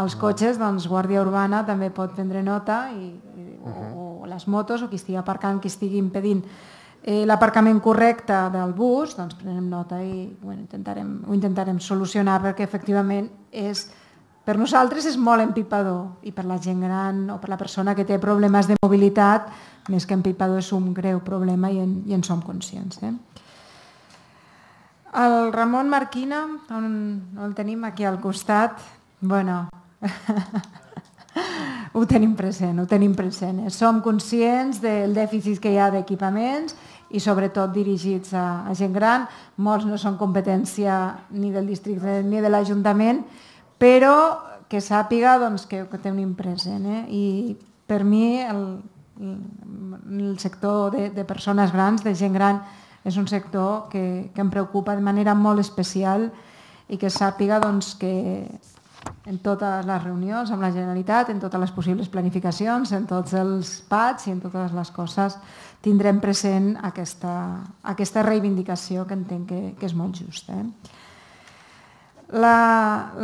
els cotxes, doncs Guàrdia Urbana també pot prendre nota i, i, o, o les motos o qui estigui aparcant, qui estigui impedint eh, l'aparcament correcte del bus, doncs prenem nota i bueno, intentarem, ho intentarem solucionar perquè efectivament és, per nosaltres és molt empipador i per la gent gran o per la persona que té problemes de mobilitat més que empipador és un greu problema i en, i en som conscients. Eh? El Ramon Marquina, on, on el tenim aquí al costat, bueno, ho tenim present, ho tenim present. Som conscients del dèficit que hi ha d'equipaments i sobretot dirigits a, a gent gran. Molts no són competència ni del districte ni de l'Ajuntament, però que sàpiga doncs, que ho tenim present. Eh? I per mi el, el sector de, de persones grans, de gent gran, és un sector que, que em preocupa de manera molt especial i que sàpiga doncs, que en totes les reunions amb la Generalitat, en totes les possibles planificacions, en tots els P A Ts i en totes les coses tindrem present aquesta, aquesta reivindicació que entenc que, que és molt justa. Eh?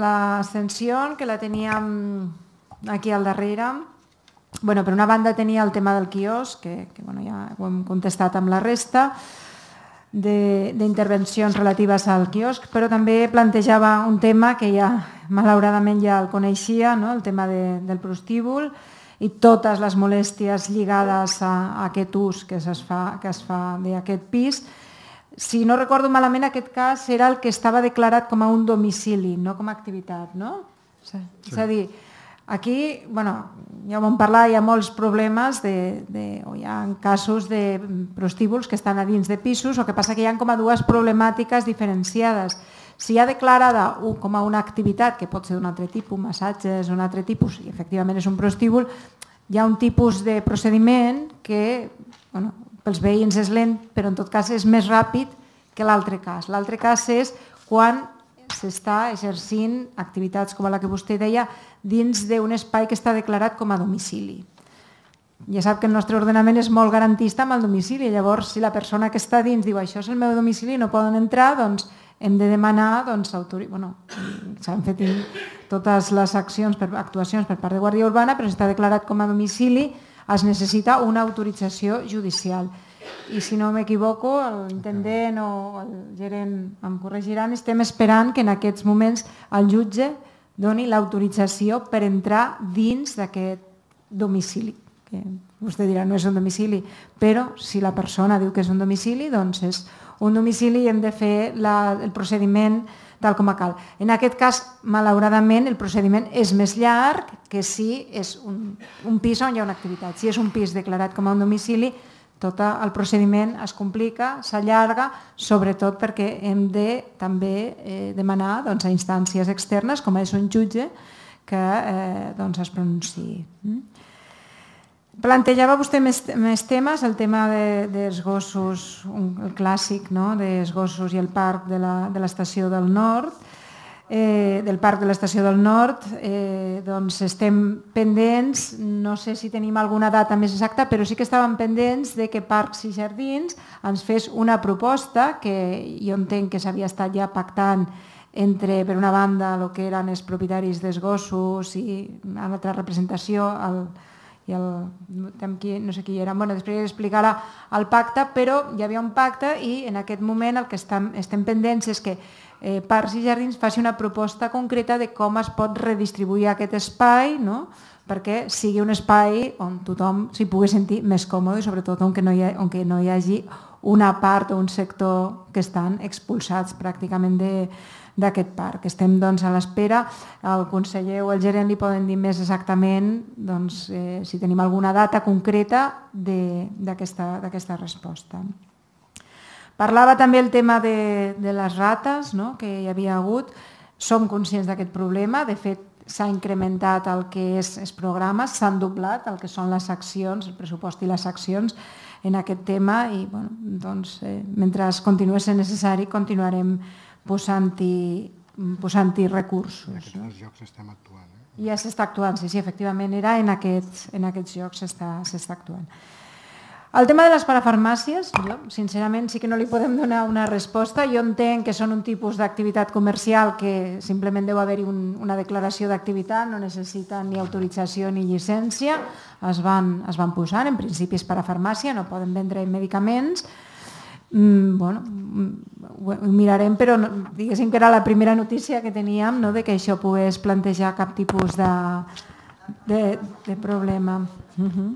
L'ascensió, que la teníem aquí al darrere, bueno, per una banda tenia el tema del quiosc, que, que bueno, ja ho hem contestat amb la resta, d'intervencions relatives al quiosc, però també plantejava un tema que ja malauradament ja el coneixia, no? El tema de, del prostíbul i totes les molèsties lligades a, a aquest ús que es fa, que es fa d'aquest pis. Si no recordo malament, aquest cas era el que estava declarat com a un domicili, no com a activitat, no? Sí. És a dir, aquí, bueno, ja ho vam parlar, hi ha molts problemes, de, de, o hi ha casos de prostíbuls que estan a dins de pisos, o que passa que hi ha com a dues problemàtiques diferenciades. Si hi ha declarada com a una activitat, que pot ser d'un altre tipus, massatges, un altre tipus, i efectivament és un prostíbul, hi ha un tipus de procediment que, bueno, pels veïns és lent, però en tot cas és més ràpid que l'altre cas. L'altre cas és quan s'està exercint activitats com la que vostè deia dins d'un espai que està declarat com a domicili. Ja sap que el nostre ordenament és molt garantista amb el domicili, llavors si la persona que està dins diu això és el meu domicili i no poden entrar, doncs hem de demanar, doncs, bueno, s'han fet totes les accions, actuacions per part de Guàrdia Urbana, però si està declarat com a domicili es necessita una autorització judicial. I si no m'equivoco, l'intendent o el gerent em corregiran, estem esperant que en aquests moments el jutge doni l'autorització per entrar dins d'aquest domicili. Que vostè dirà, no és un domicili, però si la persona diu que és un domicili, doncs és un domicili i hem de fer la, el procediment tal com cal. En aquest cas, malauradament, el procediment és més llarg que si és un, un pis on hi ha una activitat. Si és un pis declarat com a un domicili, tot el procediment es complica, s'allarga, sobretot perquè hem de també eh, demanar doncs, a instàncies externes, com és un jutge, que eh, doncs, es pronunciï. Plantejava vostè més, més temes, el tema de, dels gossos, un, el clàssic, no? dels gossos i el parc de l'estació del nord. Eh, del parc de l'estació del nord, eh, doncs estem pendents, no sé si tenim alguna data més exacta, però sí que estàvem pendents de que Parcs i Jardins ens fes una proposta que jo entenc que s'havia estat ja pactant entre, per una banda, el que eren els propietaris dels gossos i una altra representació, el, i el, no sé qui era, bueno, després explicarà el pacte, però hi havia un pacte i en aquest moment el que estem, estem pendents és que eh, Parcs i Jardins faci una proposta concreta de com es pot redistribuir aquest espai, no? Perquè sigui un espai on tothom s'hi pugui sentir més còmode i sobretot on no, hi ha, on no hi hagi una part o un sector que estan expulsats pràcticament de d'aquest parc. Estem doncs, a l'espera, el conseller o el gerent li poden dir més exactament doncs, eh, si tenim alguna data concreta d'aquesta resposta. Parlava també el tema de, de les rates, no? Que hi havia hagut. Som conscients d'aquest problema, de fet s'ha incrementat el que és els programes, s'han doblat el que són les accions, el pressupost i les accions en aquest tema i bueno, doncs, eh, mentre continuï sent necessari continuarem posant-hi posant-hi recursos.
En aquests llocs estem actuant. Eh?
Ja s'està actuant, sí, sí, efectivament era en aquests, en aquests llocs s'està actuant. El tema de les parafarmàcies, jo sincerament sí que no li podem donar una resposta. Jo entenc que són un tipus d'activitat comercial que simplement deu haver-hi un, una declaració d'activitat, no necessiten ni autorització ni llicència, es van, es van posar, en principi és parafarmàcia, no poden vendre medicaments. Mm, bueno, ho mirarem, però no, diguéssim que era la primera notícia que teníem, no, de que això pogués plantejar cap tipus de, de, de problema. Uh-huh.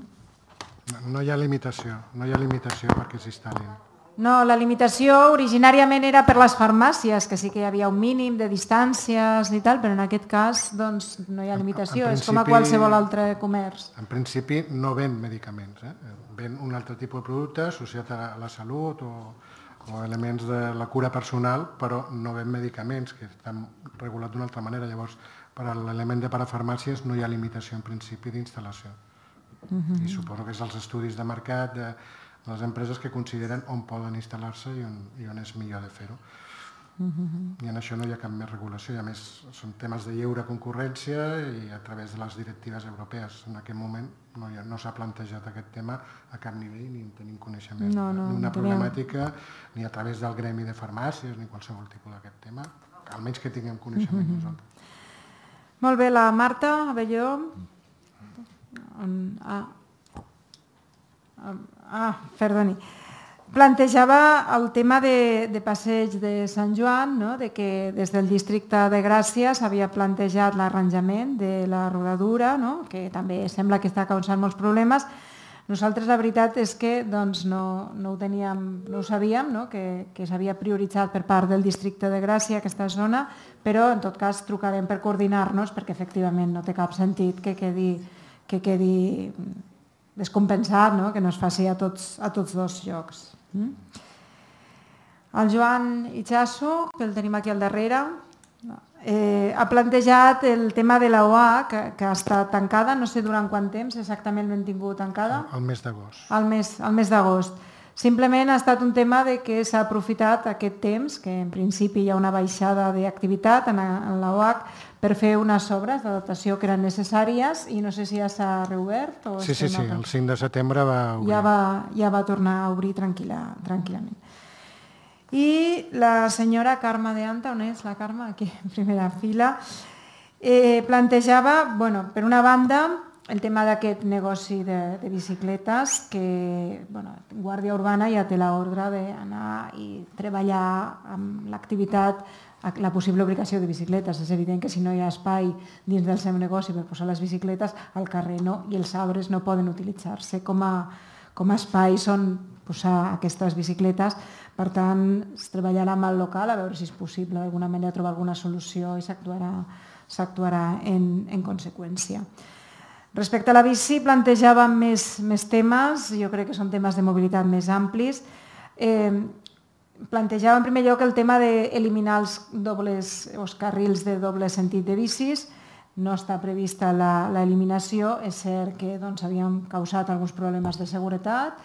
No hi ha limitació, no hi ha limitació perquè s'instal·lin.
No, la limitació originàriament era per les farmàcies, que sí que hi havia un mínim de distàncies i tal, però en aquest cas doncs, no hi ha limitació, és com a qualsevol altre comerç.
En principi no ven medicaments, eh? Ven un altre tipus de producte associat a la salut o, o elements de la cura personal, però no ven medicaments, que estan regulats d'una altra manera. Llavors, per a l'element de parafarmàcies no hi ha limitació en principi d'instal·lació.
Mhm.
I suposo que és els estudis de mercat de les empreses que consideren on poden instal·lar-se i, on, i on és millor de fer-ho.
Mhm.
I en això no hi ha cap més regulació, i a més són temes de lliure concurrència i a través de les directives europees. En aquest moment no, hi ha- no s'ha plantejat aquest tema a cap nivell, ni en tenim coneixement.
No, no,
ni una
no tenim.
problemàtica, ni a través del gremi de farmàcies, ni qualsevol tipus d'aquest tema, almenys que tinguem coneixement
Mhm.
nosaltres.
Molt bé, la Marta Abelló. On- Ah, ah perdoni. Plantejava el tema de, de passeig de Sant Joan, no? De que des del districte de Gràcia s'havia plantejat l'arranjament de la rodadura, no? Que també sembla que està causant molts problemes. Nosaltres la veritat és que doncs, no, no, ho teníem, no ho sabíem, no? que, que s'havia prioritzat per part del districte de Gràcia aquesta zona, però en tot cas trucarem per coordinar-nos perquè efectivament no té cap sentit que quedi, que quedi descompensat, no? Que no es faci a tots, a tots dos llocs. Mm? El Joan Itxasso, que el tenim aquí al darrere, eh, ha plantejat el tema de la O A, que, que està tancada, no sé durant quant temps exactament l'hem tingut tancada.
El mes d'agost.
Al mes, al mes d'agost. Simplement ha estat un tema de que s'ha aprofitat aquest temps, que en principi hi ha una baixada d'activitat en, en la O A C, per fer unes obres d'adaptació que eren necessàries i no sé si ja s'ha reobert. O
Sí, sí, sí, el cinc de setembre va obrir.
ja va, ja va tornar a obrir tranquil·la, tranquil·lament. I la senyora Carme de Anta, on és la Carme? Aquí, en primera fila, eh, plantejava, bueno, per una banda, el tema d'aquest negoci de, de bicicletes, que bueno, Guàrdia Urbana ja té l'ordre d'anar i treballar amb l'activitat, la possible ubicació de bicicletes. És evident que si no hi ha espai dins del seu negoci per posar les bicicletes, al carrer no, i els arbres no poden utilitzar-se com a, com a espais on posar aquestes bicicletes. Per tant, es treballarà amb el local a veure si és possible d'alguna manera trobar alguna solució i s'actuarà en, en conseqüència. Respecte a la bici, plantejàvem més, més temes, jo crec que són temes de mobilitat més amplis. Eh, plantejava en primer lloc el tema d'eliminar els dobles, els carrils de doble sentit de bicis. No està prevista l'eliminació, és cert que doncs, havien causat alguns problemes de seguretat.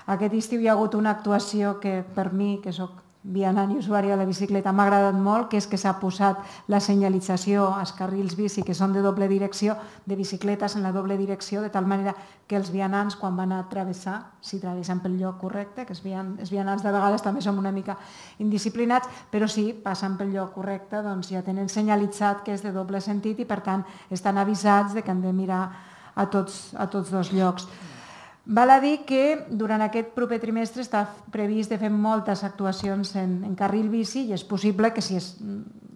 Aquest estiu hi ha hagut una actuació que per mi, que soc vianant i usuària de la bicicleta, m'ha agradat molt, que és que s'ha posat la senyalització als carrils bici que són de doble direcció, de bicicletes en la doble direcció, de tal manera que els vianants quan van a travessar, si travessen pel lloc correcte, que els vianants de vegades també som una mica indisciplinats, però si passen pel lloc correcte doncs ja tenen senyalitzat que és de doble sentit i per tant estan avisats de que han de mirar a tots, a tots dos llocs. Val a dir que durant aquest proper trimestre està previst de fer moltes actuacions en, en carril bici i és possible que si és,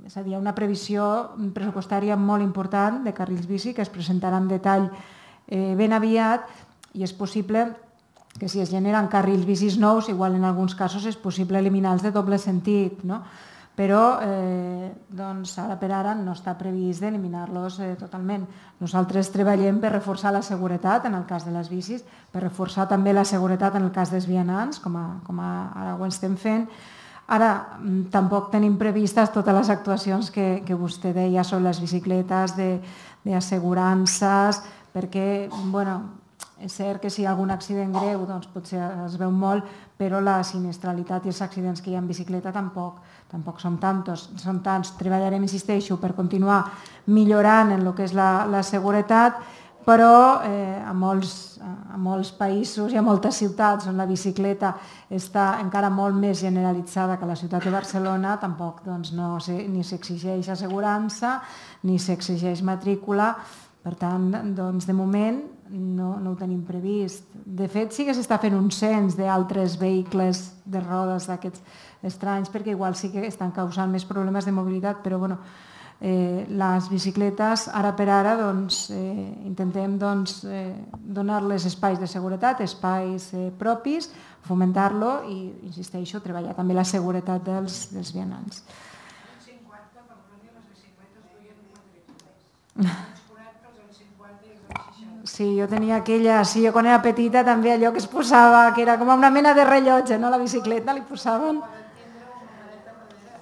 és a dir, una previsió pressupostària molt important de carrils bici que es presentarà en detall eh, ben aviat i és possible que si es generen carrils bicis nous, igual en alguns casos és possible eliminar els de doble sentit, no? Però eh, doncs ara per ara no està previst d'eliminar-los eh, totalment. Nosaltres treballem per reforçar la seguretat en el cas de les bicis, per reforçar també la seguretat en el cas dels vianants, com, a, com a, ara ho estem fent. Ara, tampoc tenim previstes totes les actuacions que, que vostè deia sobre les bicicletes d'assegurances, perquè, bueno, és cert que si hi ha algun accident greu doncs potser es veu molt, però la sinistralitat i els accidents que hi ha en bicicleta tampoc, tampoc són tantos. Són tants. Treballarem, insisteixo, per continuar millorant en el que és la, la seguretat, però eh, a, molts, a molts països i a moltes ciutats on la bicicleta està encara molt més generalitzada que a la ciutat de Barcelona, tampoc doncs, no se, ni s'exigeix assegurança ni s'exigeix matrícula. Per tant, doncs, de moment no, no ho tenim previst. De fet, sí que s'està fent un cens d'altres vehicles de rodes d'aquests estranys, perquè igual sí que estan causant més problemes de mobilitat, però bueno, les bicicletes, ara per ara, intentem donar-les espais de seguretat, espais propis, fomentar-lo i, insisteixo, treballar també la seguretat dels vianants. Sí, jo tenia aquella, sí, jo quan era petita també allò que es posava, que era com una mena de rellotge, no? La bicicleta li posaven...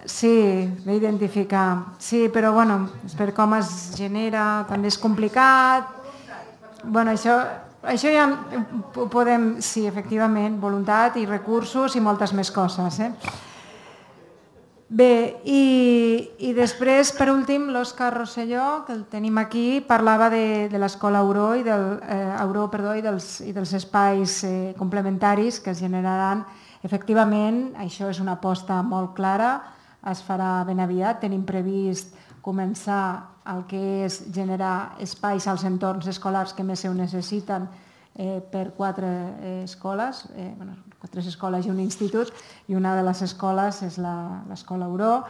Sí, bé identificar. Sí, però bueno, per com es genera, també és complicat. Bueno, això, això ja ho podem, sí, efectivament, voluntat i recursos i moltes més coses. Eh? Bé, i, i després, per últim, l'Òscar Rosselló, que el tenim aquí, parlava de, de l'escola Auró i, del, eh, Auró, perdó, i, dels, i dels espais eh, complementaris que es generaran. Efectivament, això és una aposta molt clara, es farà ben aviat. Tenim previst començar el que és generar espais als entorns escolars que més ho necessiten eh, per quatre eh, escoles, eh, bueno, tres escoles i un institut, i una de les escoles és l'escola Auró.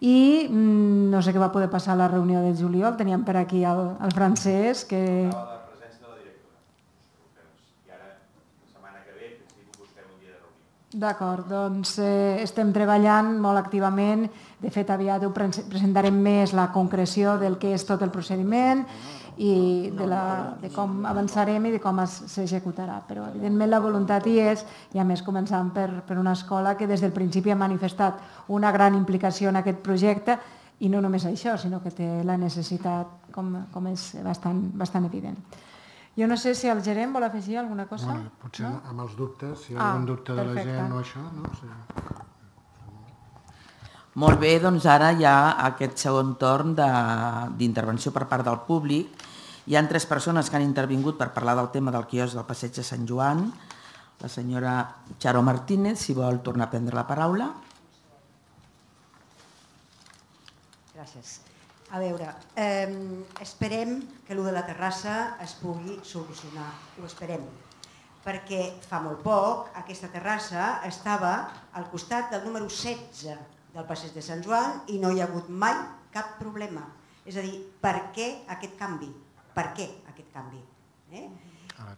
I mm, no sé què va poder passar a la reunió de juliol, teníem per aquí el, el francès que... D'acord, doncs eh, estem treballant molt activament. De fet, aviat ho presentarem més la concreció del que és tot el procediment i de, la, de com avançarem i de com s'executarà. Però, evidentment, la voluntat hi és, i a més començant per, per una escola que des del principi ha manifestat una gran implicació en aquest projecte, i no només això, sinó que té la necessitat, com, com és bastant, bastant evident. Jo no sé si el gerent vol afegir alguna cosa.
Bueno, potser no? Amb els dubtes, si hi ha ah, algun dubte de perfecte. La gent o això, no sé.
Molt bé, doncs ara hi ha aquest segon torn d'intervenció per part del públic. Hi ha tres persones que han intervingut per parlar del tema del quiosc del Passeig de Sant Joan. La senyora Charo Martínez, si vol tornar a prendre la paraula.
Gràcies. A veure, eh, esperem que allò de la terrassa es pugui solucionar, ho esperem, perquè fa molt poc aquesta terrassa estava al costat del número setze del Passeig de Sant Joan i no hi ha hagut mai cap problema. És a dir, per què aquest canvi? Per què aquest canvi? Eh?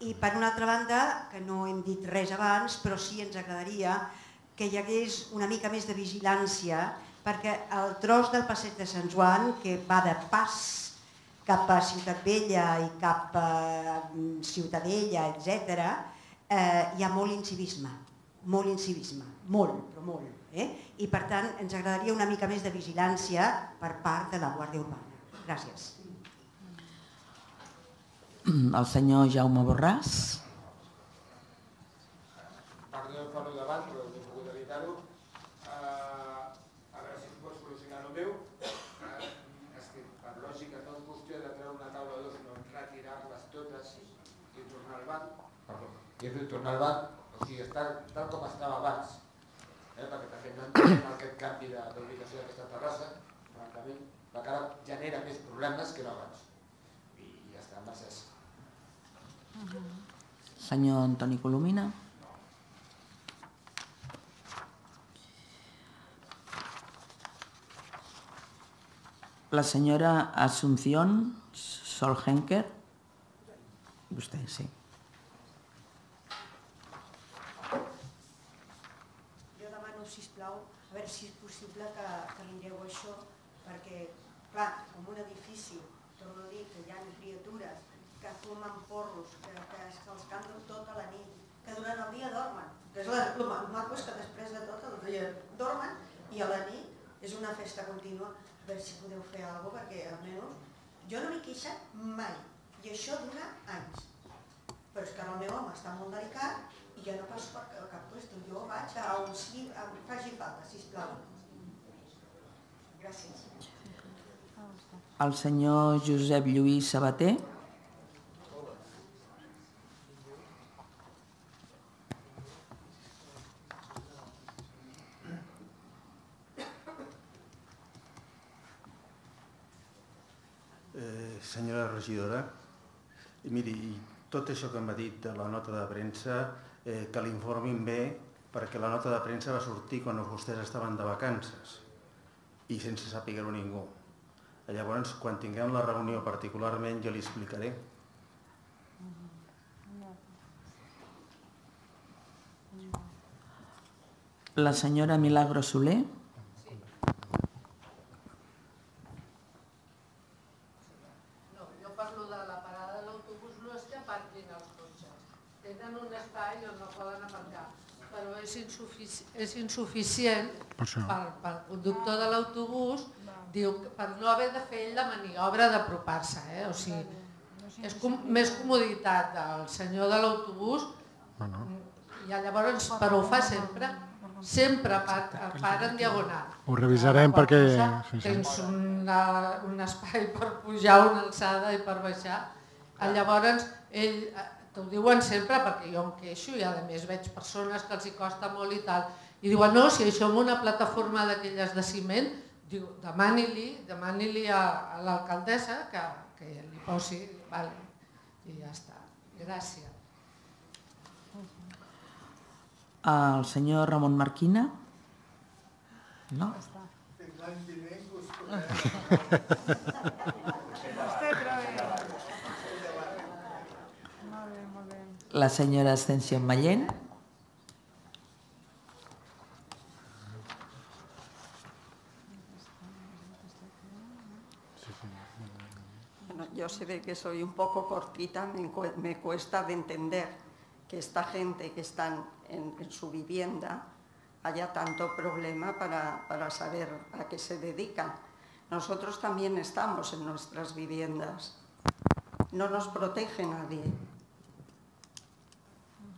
I per una altra banda, que no hem dit res abans, però sí ens agradaria que hi hagués una mica més de vigilància, perquè el tros del Passeig de Sant Joan, que va de pas cap a Ciutat Vella i cap a Ciutadella, etcètera, eh, hi ha molt incivisme, molt incivisme, molt, però molt. Eh? I per tant ens agradaria una mica més de vigilància per part de la Guàrdia Urbana. Gràcies.
El senyor Jaume Borràs.
Perdó, parlo davant, però no he pogut evitar-ho. A veure si es pot solucionar el meu. És que per lògica no és qüestió de treure una taula o dos, sinó retirar-les totes i tornar al banc. Perdó, i tornar al banc, o sigui, està tal com estava abans. Perquè també no entenem aquest canvi d'ubicació d'aquesta terrassa, francament, perquè ara genera més problemes que no abans. I ja està, gràcies.
Senyor Antoni Colomina. La senyora Asunción Solhenker. Vostè, sí.
Sisplau, a veure si és possible que, que mireu això, perquè, clar, en un edifici, torno a dir que hi ha criatures que fumen porros, que, que se'ls canten tota la nit, que durant el dia dormen. El maco és que després de tot el dia dormen i a la nit és una festa contínua. A veure si podeu fer alguna cosa, perquè almenys jo no m'he queixat mai, i això dura anys. Però és que el meu home està molt delicat i ja no passo per cap puesto. Jo vaig a on sigui, faci falta, sisplau. Gràcies.
El senyor Josep Lluís Sabater.
Eh, senyora regidora, miri, tot això que m'ha dit de la nota de premsa, eh, que l'informin bé, perquè la nota de premsa va sortir quan vostès estaven de vacances i sense saber-ho ningú. Llavors, quan tinguem la reunió particularment, jo li explicaré.
La senyora Milagro Soler.
No, jo parlo de la parada de l'autobús, no és que aparquin els cotxes. Tenen un espai on no poden aparcar, però és, insufici és insuficient pel, pel conductor de l'autobús, diu, per no haver de fer ell la maniobra d'apropar-se. Eh? O sigui, és com, més comoditat del senyor de l'autobús, i llavors, però ho fa sempre, sempre para en diagonal.
Ho revisarem perquè...
Tens una, un espai per pujar, una alçada i per baixar. Llavors, ell t'ho diuen sempre perquè jo em queixo i a més veig persones que els hi costa molt i tal. I diuen, no, si això amb una plataforma d'aquelles de ciment, diu, demani-li demani-li a, a l'alcaldessa que, que li posi, vale, i ja està. Gràcies.
El senyor Ramon Marquina? No?
Fins l'any vinent us
La senyora Ascensió Mallén?
Bueno, yo se ve que soy un poco cortita, me, me cuesta de entender que esta gente que están en, en su vivienda haya tanto problema para, para saber a qué se dedican. Nosotros también estamos en nuestras viviendas. No nos protege nadie.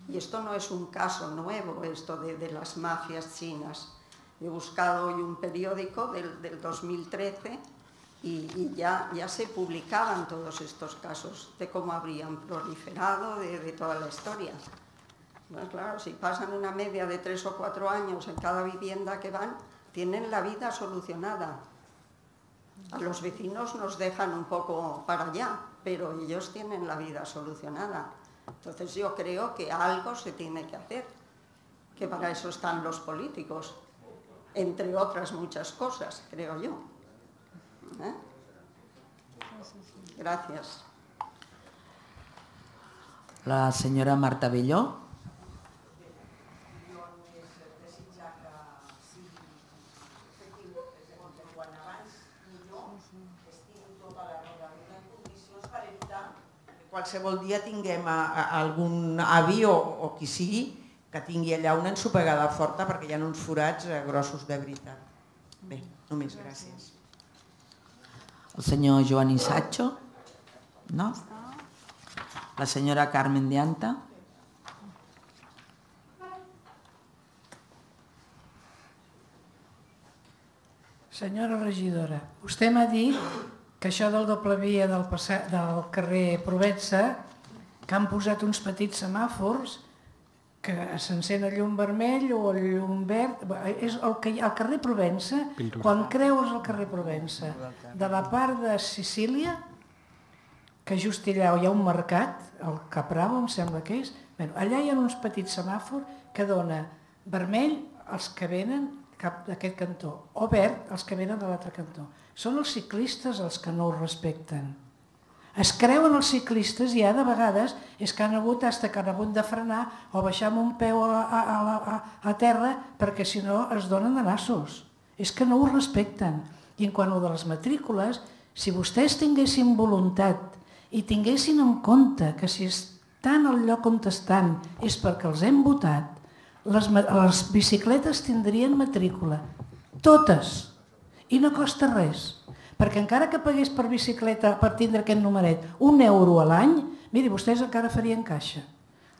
Y esto no es un caso nuevo, esto de, de las mafias chinas. He buscado hoy un periódico del, del dos mil trece y, y ya, ya se publicaban todos estos casos de cómo habrían proliferado, de, de toda la historia. Pues claro, si pasan una media de tres o cuatro años en cada vivienda que van, tienen la vida solucionada. A los vecinos nos dejan un poco para allá, pero ellos tienen la vida solucionada. Entonces yo creo que algo se tiene que hacer, que para eso están los políticos, entre otras muchas cosas, creo yo. ¿Eh? Gracias.
La senyora Marta Belló.
Qualsevol dia tinguem a, a algun avi o, o qui sigui que tingui allà una ensopegada forta perquè hi ha uns forats eh, grossos de veritat. Bé, només gràcies.
El senyor Joan Isatxo? No? La senyora Carmen de Anta?
Senyora regidora, vostè m'ha dit que això del doble via del, del carrer Provença, que han posat uns petits semàfors que s'encén el llum vermell o el llum verd, és el, que, el carrer Provença, quan creus el carrer Provença, de la part de Sicília, que just allà hi ha un mercat, el Capravo em sembla que és, bueno, allà hi ha uns petits semàfors que dona vermell als que venen cap d'aquest cantó, o verd als que venen de l'altre cantó. Són els ciclistes els que no ho respecten. Es creuen els ciclistes i ja de vegades és que han hagut, fins que han hagut de frenar o baixar amb un peu a, a, a, a terra perquè si no es donen de nassos. És que no ho respecten. I en quant a de les matrícules, si vostès tinguessin voluntat i tinguessin en compte que si estan al lloc on estan és perquè els hem votat, les, les bicicletes tindrien matrícula. Totes. I no costa res, perquè encara que pagués per bicicleta per tindre aquest numeret un euro a l'any, miri, vostès encara farien caixa.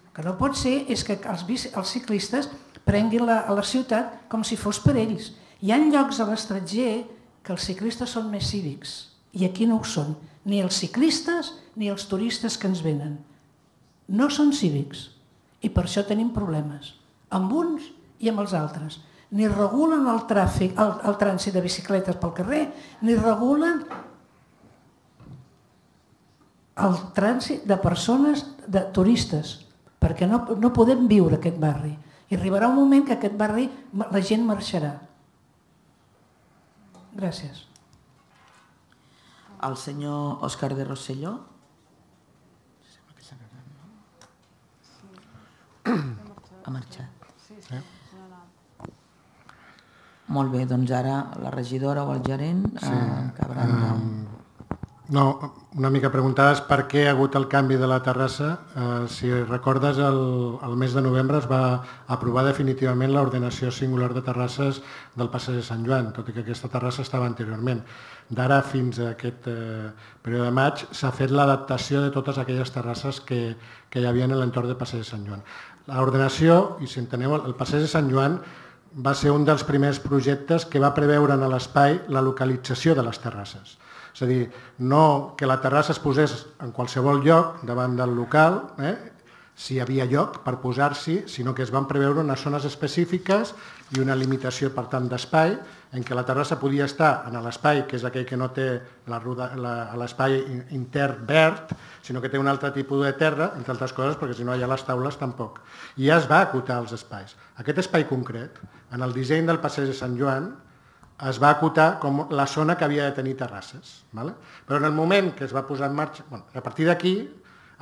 El que no pot ser és que els, els ciclistes prenguin la, a la ciutat com si fos per ells. Hi ha llocs a l'estranger que els ciclistes són més cívics i aquí no ho són, ni els ciclistes ni els turistes que ens venen. No són cívics i per això tenim problemes, amb uns i amb els altres. Ni regulen el tràfic, el, el trànsit de bicicletes pel carrer, ni regulen el trànsit de persones, de turistes, perquè no, no podem viure aquest barri. I arribarà un moment que aquest barri la gent marxarà. Gràcies.
el senyor Òscar de Rosselló. Ha marxat. Molt bé, doncs ara la regidora o el gerent acabaran de...
No, una mica preguntades per què ha hagut el canvi de la terrassa. Si recordes, el mes de novembre es va aprovar definitivament l'ordenació singular de terrasses del passeig de Sant Joan, tot i que aquesta terrassa estava anteriorment. D'ara fins a aquest període de maig s'ha fet l'adaptació de totes aquelles terrasses que hi havia en l'entorn del passeig de Sant Joan. L'ordenació, i si enteneu, el passeig de Sant Joan va ser un dels primers projectes que va preveure a l'espai la localització de les terrasses. És a dir, no que la terrassa es posés en qualsevol lloc davant del local, si hi havia lloc per posar-s'hi, sinó que es van preveure unes zones específiques i una limitació, per tant, d'espai, en què la terrassa podia estar en l'espai, que és aquell que no té l'espai intern verd, sinó que té un altre tipus de terra, entre altres coses, perquè si no hi ha les taules tampoc. I ja es va acotar els espais. Aquest espai concret, en el disseny del passeig de Sant Joan, es va acotar com la zona que havia de tenir terrasses. Però en el moment que es va posar en marxa, a partir d'aquí,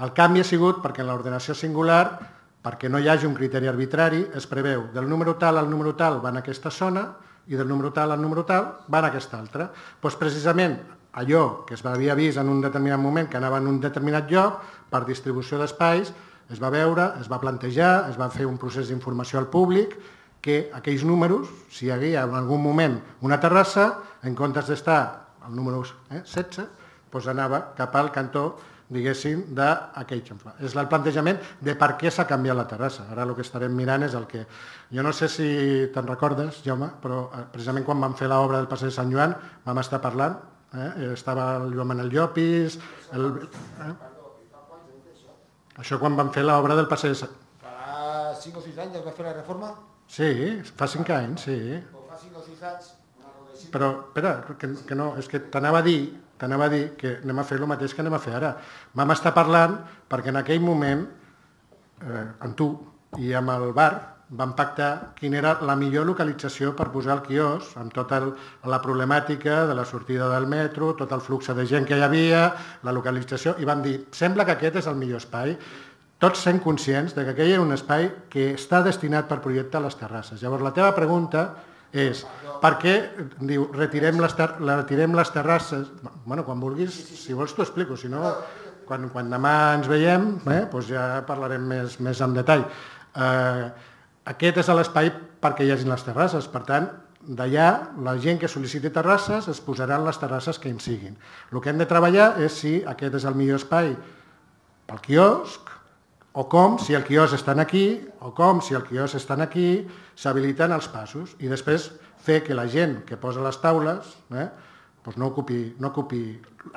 el canvi ha sigut perquè en l'ordenació singular, perquè no hi hagi un criteri arbitrari, es preveu del número tal al número tal van a aquesta zona i del número tal al número tal van a aquesta altra. Doncs precisament allò que es havia vist en un determinat moment que anava en un determinat lloc, per distribució d'espais, es va veure, es va plantejar, es va fer un procés d'informació al públic, que aquells números, si hi havia en algun moment una terrassa, en comptes d'estar al número setze, doncs anava cap al cantó, diguéssim, d'aquell xamfrà. És el plantejament de per què s'ha canviat la terrassa. Ara el que estarem mirant és el que... Jo no sé si te'n recordes, Jaume, però precisament quan vam fer l'obra del passeig de Sant Joan vam estar parlant, estava el Joan el Llopis... Això quan vam fer l'obra del passeig de Sant Joan.
Fa cinc o sis anys es va fer la reforma?
Sí, fa cinc anys, sí.
Fa cinc o sis anys...
Però, espera, que no, és que t'anava a dir, t'anava a dir que anem a fer el mateix que anem a fer ara. Vam estar parlant perquè en aquell moment, amb tu i amb el bar, vam pactar quina era la millor localització per posar el quiosc, amb tota la problemàtica de la sortida del metro, tot el flux de gent que hi havia, la localització, i vam dir, sembla que aquest és el millor espai, tots sent conscients que aquell era un espai que està destinat per projectar les terrasses. Llavors, la teva pregunta és, per què, diu, retirem les, ter retirem les terrasses? Bueno, quan vulguis, si vols t'ho explico, si no, quan, quan demà ens veiem, eh, doncs ja parlarem més, més en detall. Eh, aquest és l'espai perquè hi hagi les terrasses, per tant, d'allà la gent que sol·liciti terrasses es posaran les terrasses que en siguin. El que hem de treballar és si aquest és el millor espai pel quiosc, o com, si el quiosc està aquí, o com, si el quiosc està aquí, s'habiliten els passos i després fer que la gent que posa les taules eh, doncs no ocupi, no ocupi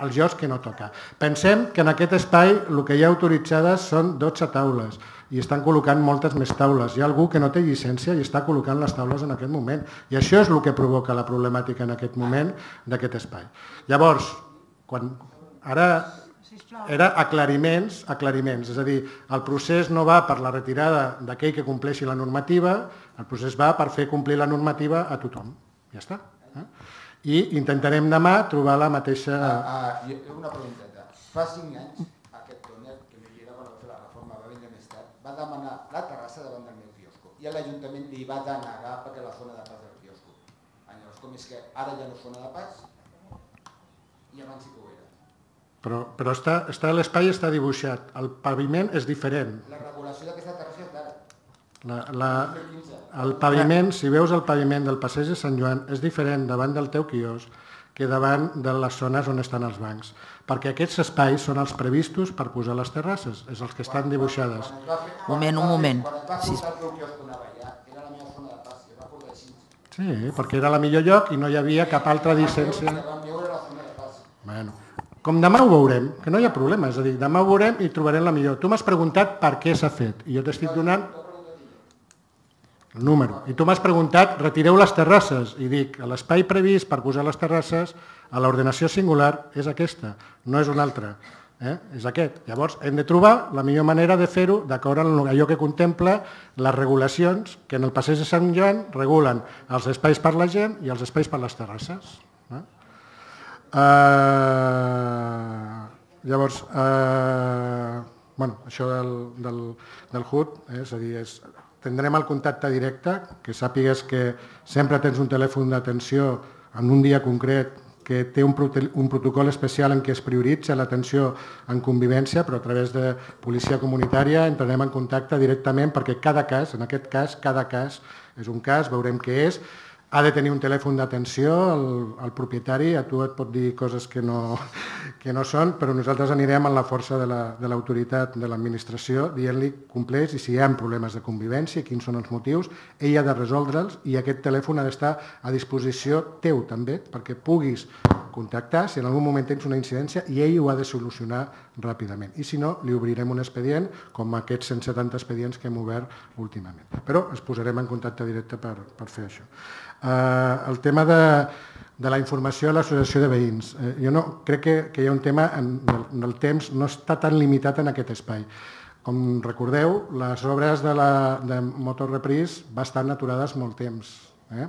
els llocs que no toca. Pensem que en aquest espai el que hi ha autoritzades són dotze taules i estan col·locant moltes més taules. Hi ha algú que no té llicència i està col·locant les taules en aquest moment. I això és el que provoca la problemàtica en aquest moment d'aquest espai. Llavors, quan ara... era aclariments, aclariments, és a dir, el procés no va per la retirada d'aquell que compleixi la normativa, el procés va per fer complir la normativa a tothom. Ja està. Eh? I intentarem demà trobar la mateixa...
Ah, ah, una pregunteta. Fa cinc anys, aquest dòner, que m'hi era quan va fer la reforma, va vindre més tard, va demanar la terrassa davant del meu quiosco i l'Ajuntament li va denegar perquè la zona de pas del quiosco. Llavors, com és que ara ja no és zona de pas i abans sí que ho era.
Però, però està, està, l'espai està dibuixat, el paviment és diferent.
La regulació d'aquesta terrassa és d'ara.
La, la, el paviment, si veus el paviment del passeig de Sant Joan, és diferent davant del teu quiosc que davant de les zones on estan els bancs. Perquè aquests espais són els previstos per posar les terrasses, és els que estan dibuixades.
Un moment, un moment.
Quan es va portar el teu quiosc on allà, era la meva zona de pas, i es va portar així.
Sí, perquè era la millor lloc i no hi havia cap altra llicència.
Vam veure la zona de pas.
Bueno, com demà ho veurem, que no hi ha problema, és a dir, demà ho veurem i trobarem la millor. Tu m'has preguntat per què s'ha fet i jo t'estic donant el número. I tu m'has preguntat, retireu les terrasses, i dic, l'espai previst per posar les terrasses a l'ordenació singular és aquesta, no és una altra, eh? És aquest. Llavors hem de trobar la millor manera de fer-ho d'acord amb allò que contempla les regulacions que en el passeig de Sant Joan regulen els espais per la gent i els espais per les terrasses. Eh? Uh, llavors, uh, bueno, això del, del, del H U D, eh, és a dir, és, tindrem el contacte directe, que sàpigues que sempre tens un telèfon d'atenció en un dia concret que té un, un protocol especial en què es prioritza l'atenció en convivència, però a través de policia comunitària entrarem en contacte directament perquè cada cas, en aquest cas, cada cas és un cas, veurem què és, ha de tenir un telèfon d'atenció, el, el propietari a tu et pot dir coses que no, que no són, però nosaltres anirem amb la força de l'autoritat de l'administració dient-li compleix i si hi ha problemes de convivència, quins són els motius, ell ha de resoldre'ls i aquest telèfon ha d'estar a disposició teu també, perquè puguis contactar si en algun moment tens una incidència i ell ho ha de solucionar ràpidament. I si no, li obrirem un expedient com aquests cent setanta expedients que hem obert últimament. Però es posarem en contacte directe per, per fer això. Uh, el tema de, de la informació a l'associació de veïns. Uh, jo no, crec que, que hi ha un tema en, en, el, en el temps no està tan limitat en aquest espai. Com recordeu, les obres de, la, de Motor Reprise van estar aturades molt temps. Eh?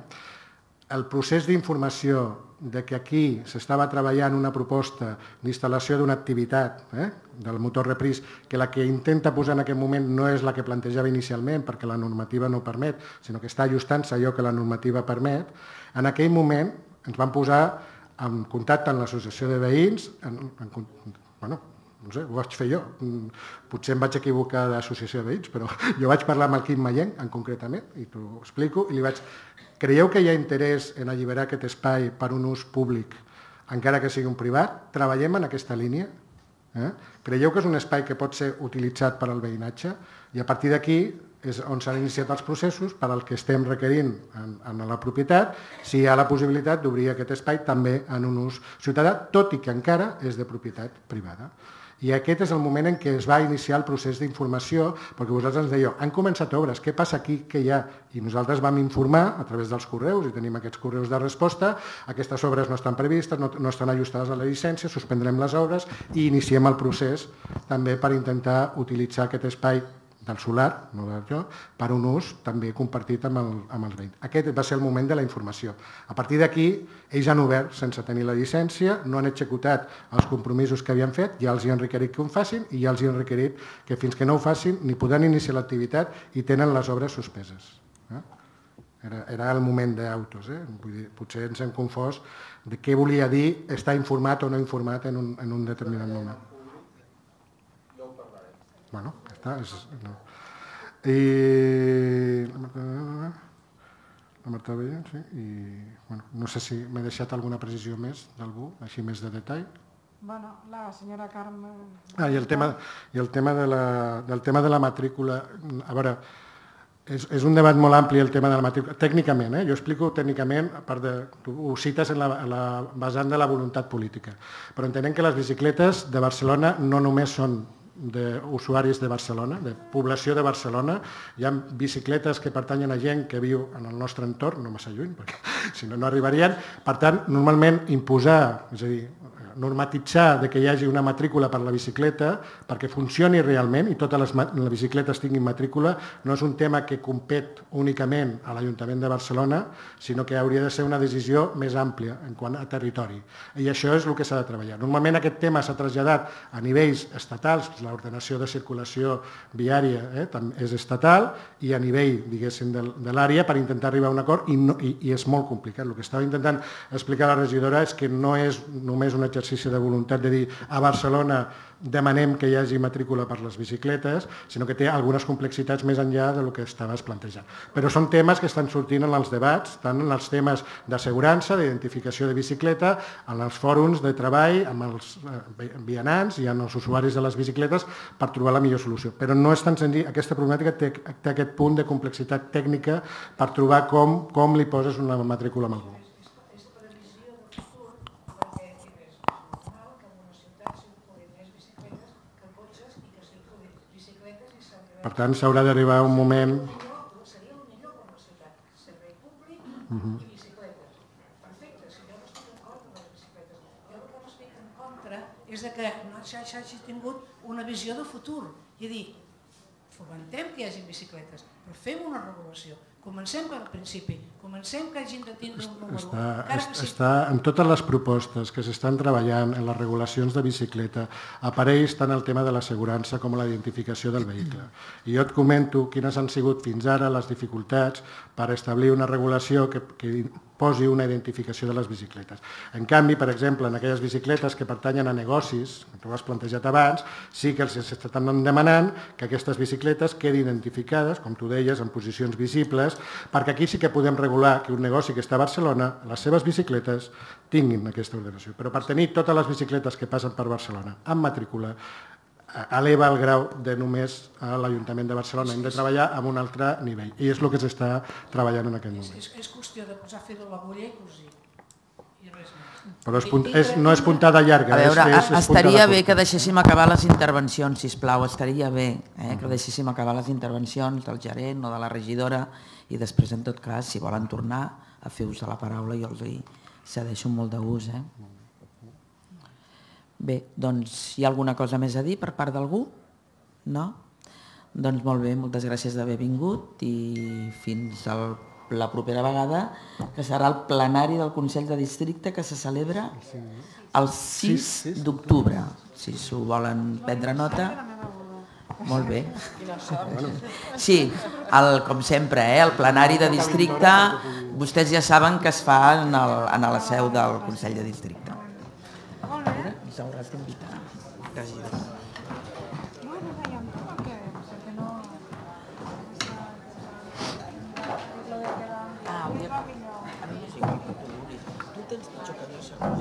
El procés d'informació de que aquí s'estava treballant una proposta d'instal·lació d'una activitat eh, del Motor Reprise, que la que intenta posar en aquest moment no és la que plantejava inicialment perquè la normativa no permet, sinó que està ajustant-se allò que la normativa permet, en aquell moment ens van posar en contacte amb l'associació de veïns, en, en, bueno, no sé, ho vaig fer jo, potser em vaig equivocar d'associació de veïns, però jo vaig parlar amb el Quim Mayenc, en concretament, i t'ho explico, i li vaig... Creieu que hi ha interès en alliberar aquest espai per un ús públic, encara que sigui un privat? Treballem en aquesta línia? Eh? Creieu que és un espai que pot ser utilitzat per al veïnatge? I a partir d'aquí és on s'han iniciat els processos per al que estem requerint en, en la propietat, si hi ha la possibilitat d'obrir aquest espai també en un ús ciutadà, tot i que encara és de propietat privada. I aquest és el moment en què es va iniciar el procés d'informació, perquè vosaltres ens dèieu, han començat obres, què passa aquí, què hi ha? I nosaltres vam informar a través dels correus, i tenim aquests correus de resposta, aquestes obres no estan previstes, no, no estan ajustades a la llicència, suspendrem les obres i iniciem el procés també per intentar utilitzar aquest espai del solar, no del jo, per un ús també compartit amb, el, amb els veïns. Aquest va ser el moment de la informació. A partir d'aquí, ells han obert sense tenir la llicència, no han executat els compromisos que havien fet, ja els hi han requerit que ho facin i ja els hi han requerit que fins que no ho facin ni podran iniciar l'activitat i tenen les obres suspeses. Eh? Era, era el moment d'autos. Eh? Vull dir, potser ens hem confós de què volia dir estar informat o no informat en un, en un determinat moment. Bueno, ja està. És, no. I la Marta Veient, sí, i bueno, no sé si m'he deixat alguna precisió més d'algú, així més de detall.
Bueno, la senyora Carme...
Ah, i el tema, i el tema de la, del tema de la matrícula, a veure, és, és un debat molt ampli el tema de la matrícula, tècnicament, eh? Jo explico tècnicament, a part de, tu ho cites en la, en la vessant de la voluntat política, però entenem que les bicicletes de Barcelona no només són d'usuaris de Barcelona, de població de Barcelona. Hi ha bicicletes que pertanyen a gent que viu en el nostre entorn, no massa lluny, perquè si no, no arribarien. Per tant, normalment imposar, és a dir, normatitzar de que hi hagi una matrícula per la bicicleta perquè funcioni realment i totes les, les bicicletes tinguin matrícula no és un tema que compet únicament a l'Ajuntament de Barcelona, sinó que hauria de ser una decisió més àmplia en quant a territori. I això és el que s'ha de treballar. Normalment aquest tema s'ha traslladat a nivells estatals, l'ordenació de circulació viària eh, és estatal i a nivell, diguéssim, de, de l'àrea per intentar arribar a un acord i, no, i, i és molt complicat. El que estava intentant explicar la regidora és que no és només un exercici de voluntat de dir a Barcelona demanem que hi hagi matrícula per les bicicletes, sinó que té algunes complexitats més enllà del que estaves plantejant. Però són temes que estan sortint en els debats, tant en els temes d'assegurança, d'identificació de bicicleta, en els fòrums de treball, amb els vianants i amb els usuaris de les bicicletes per trobar la millor solució. Però no és tan senzill, aquesta problemàtica té, té aquest punt de complexitat tècnica per trobar com, com li poses una matrícula a algú. Per tant, s'haurà d'arribar a un moment...
Seria el millor per la ciutat. Servei públic i bicicletes. Perfecte, si jo no estic en contra de les bicicletes. Jo el que no estic en contra és que no s'hagi tingut una visió de futur. I dir, fomentem que hi hagi bicicletes, però fem una regulació. Comencem per al principi, comencem que hagin de tindre un número.
Està,
encara que sigui-
està en totes les propostes que s'estan treballant en les regulacions de bicicleta apareix tant el tema de l'assegurança com la identificació del vehicle. I jo et comento quines han sigut fins ara les dificultats per establir una regulació que, que posi una identificació de les bicicletes. En canvi, per exemple, en aquelles bicicletes que pertanyen a negocis, que tu has plantejat abans, sí que els estan demanant que aquestes bicicletes quedin identificades, com tu deies, en posicions visibles, perquè aquí sí que podem regular que un negoci que està a Barcelona, les seves bicicletes tinguin aquesta ordenació. Però per tenir totes les bicicletes que passen per Barcelona amb matrícula, eleva el grau de només a l'Ajuntament de Barcelona. Hem de treballar amb un altre nivell. I és el que s'està treballant en aquest moment.
És, és qüestió de posar fil a l'agulla i cosir. I res més.
Però és punt, és, no és puntada llarga.
A veure,
és, és, és
estaria
puntada
bé
curta.
que deixéssim acabar les intervencions, sisplau, estaria bé eh, que deixéssim acabar les intervencions del gerent o de la regidora i després, en tot cas, si volen tornar a fer ús de la paraula, jo els hi cedeixo molt de gust. Eh? Bé, doncs hi ha alguna cosa més a dir per part d'algú? No? Doncs molt bé, moltes gràcies d'haver vingut i fins al, la propera vegada, que serà el plenari del Consell de Districte que se celebra el sis d'octubre. Si s'ho volen prendre nota. Molt bé. Sí, el, com sempre, eh, el plenari de districte, vostès ja saben que es fa en, el, en la seu del Consell de Districte. Ens hauràs d'invitar, regidor. Ah, a mi no sé com tu vulguis. Tu tens pitjor que jo, segur.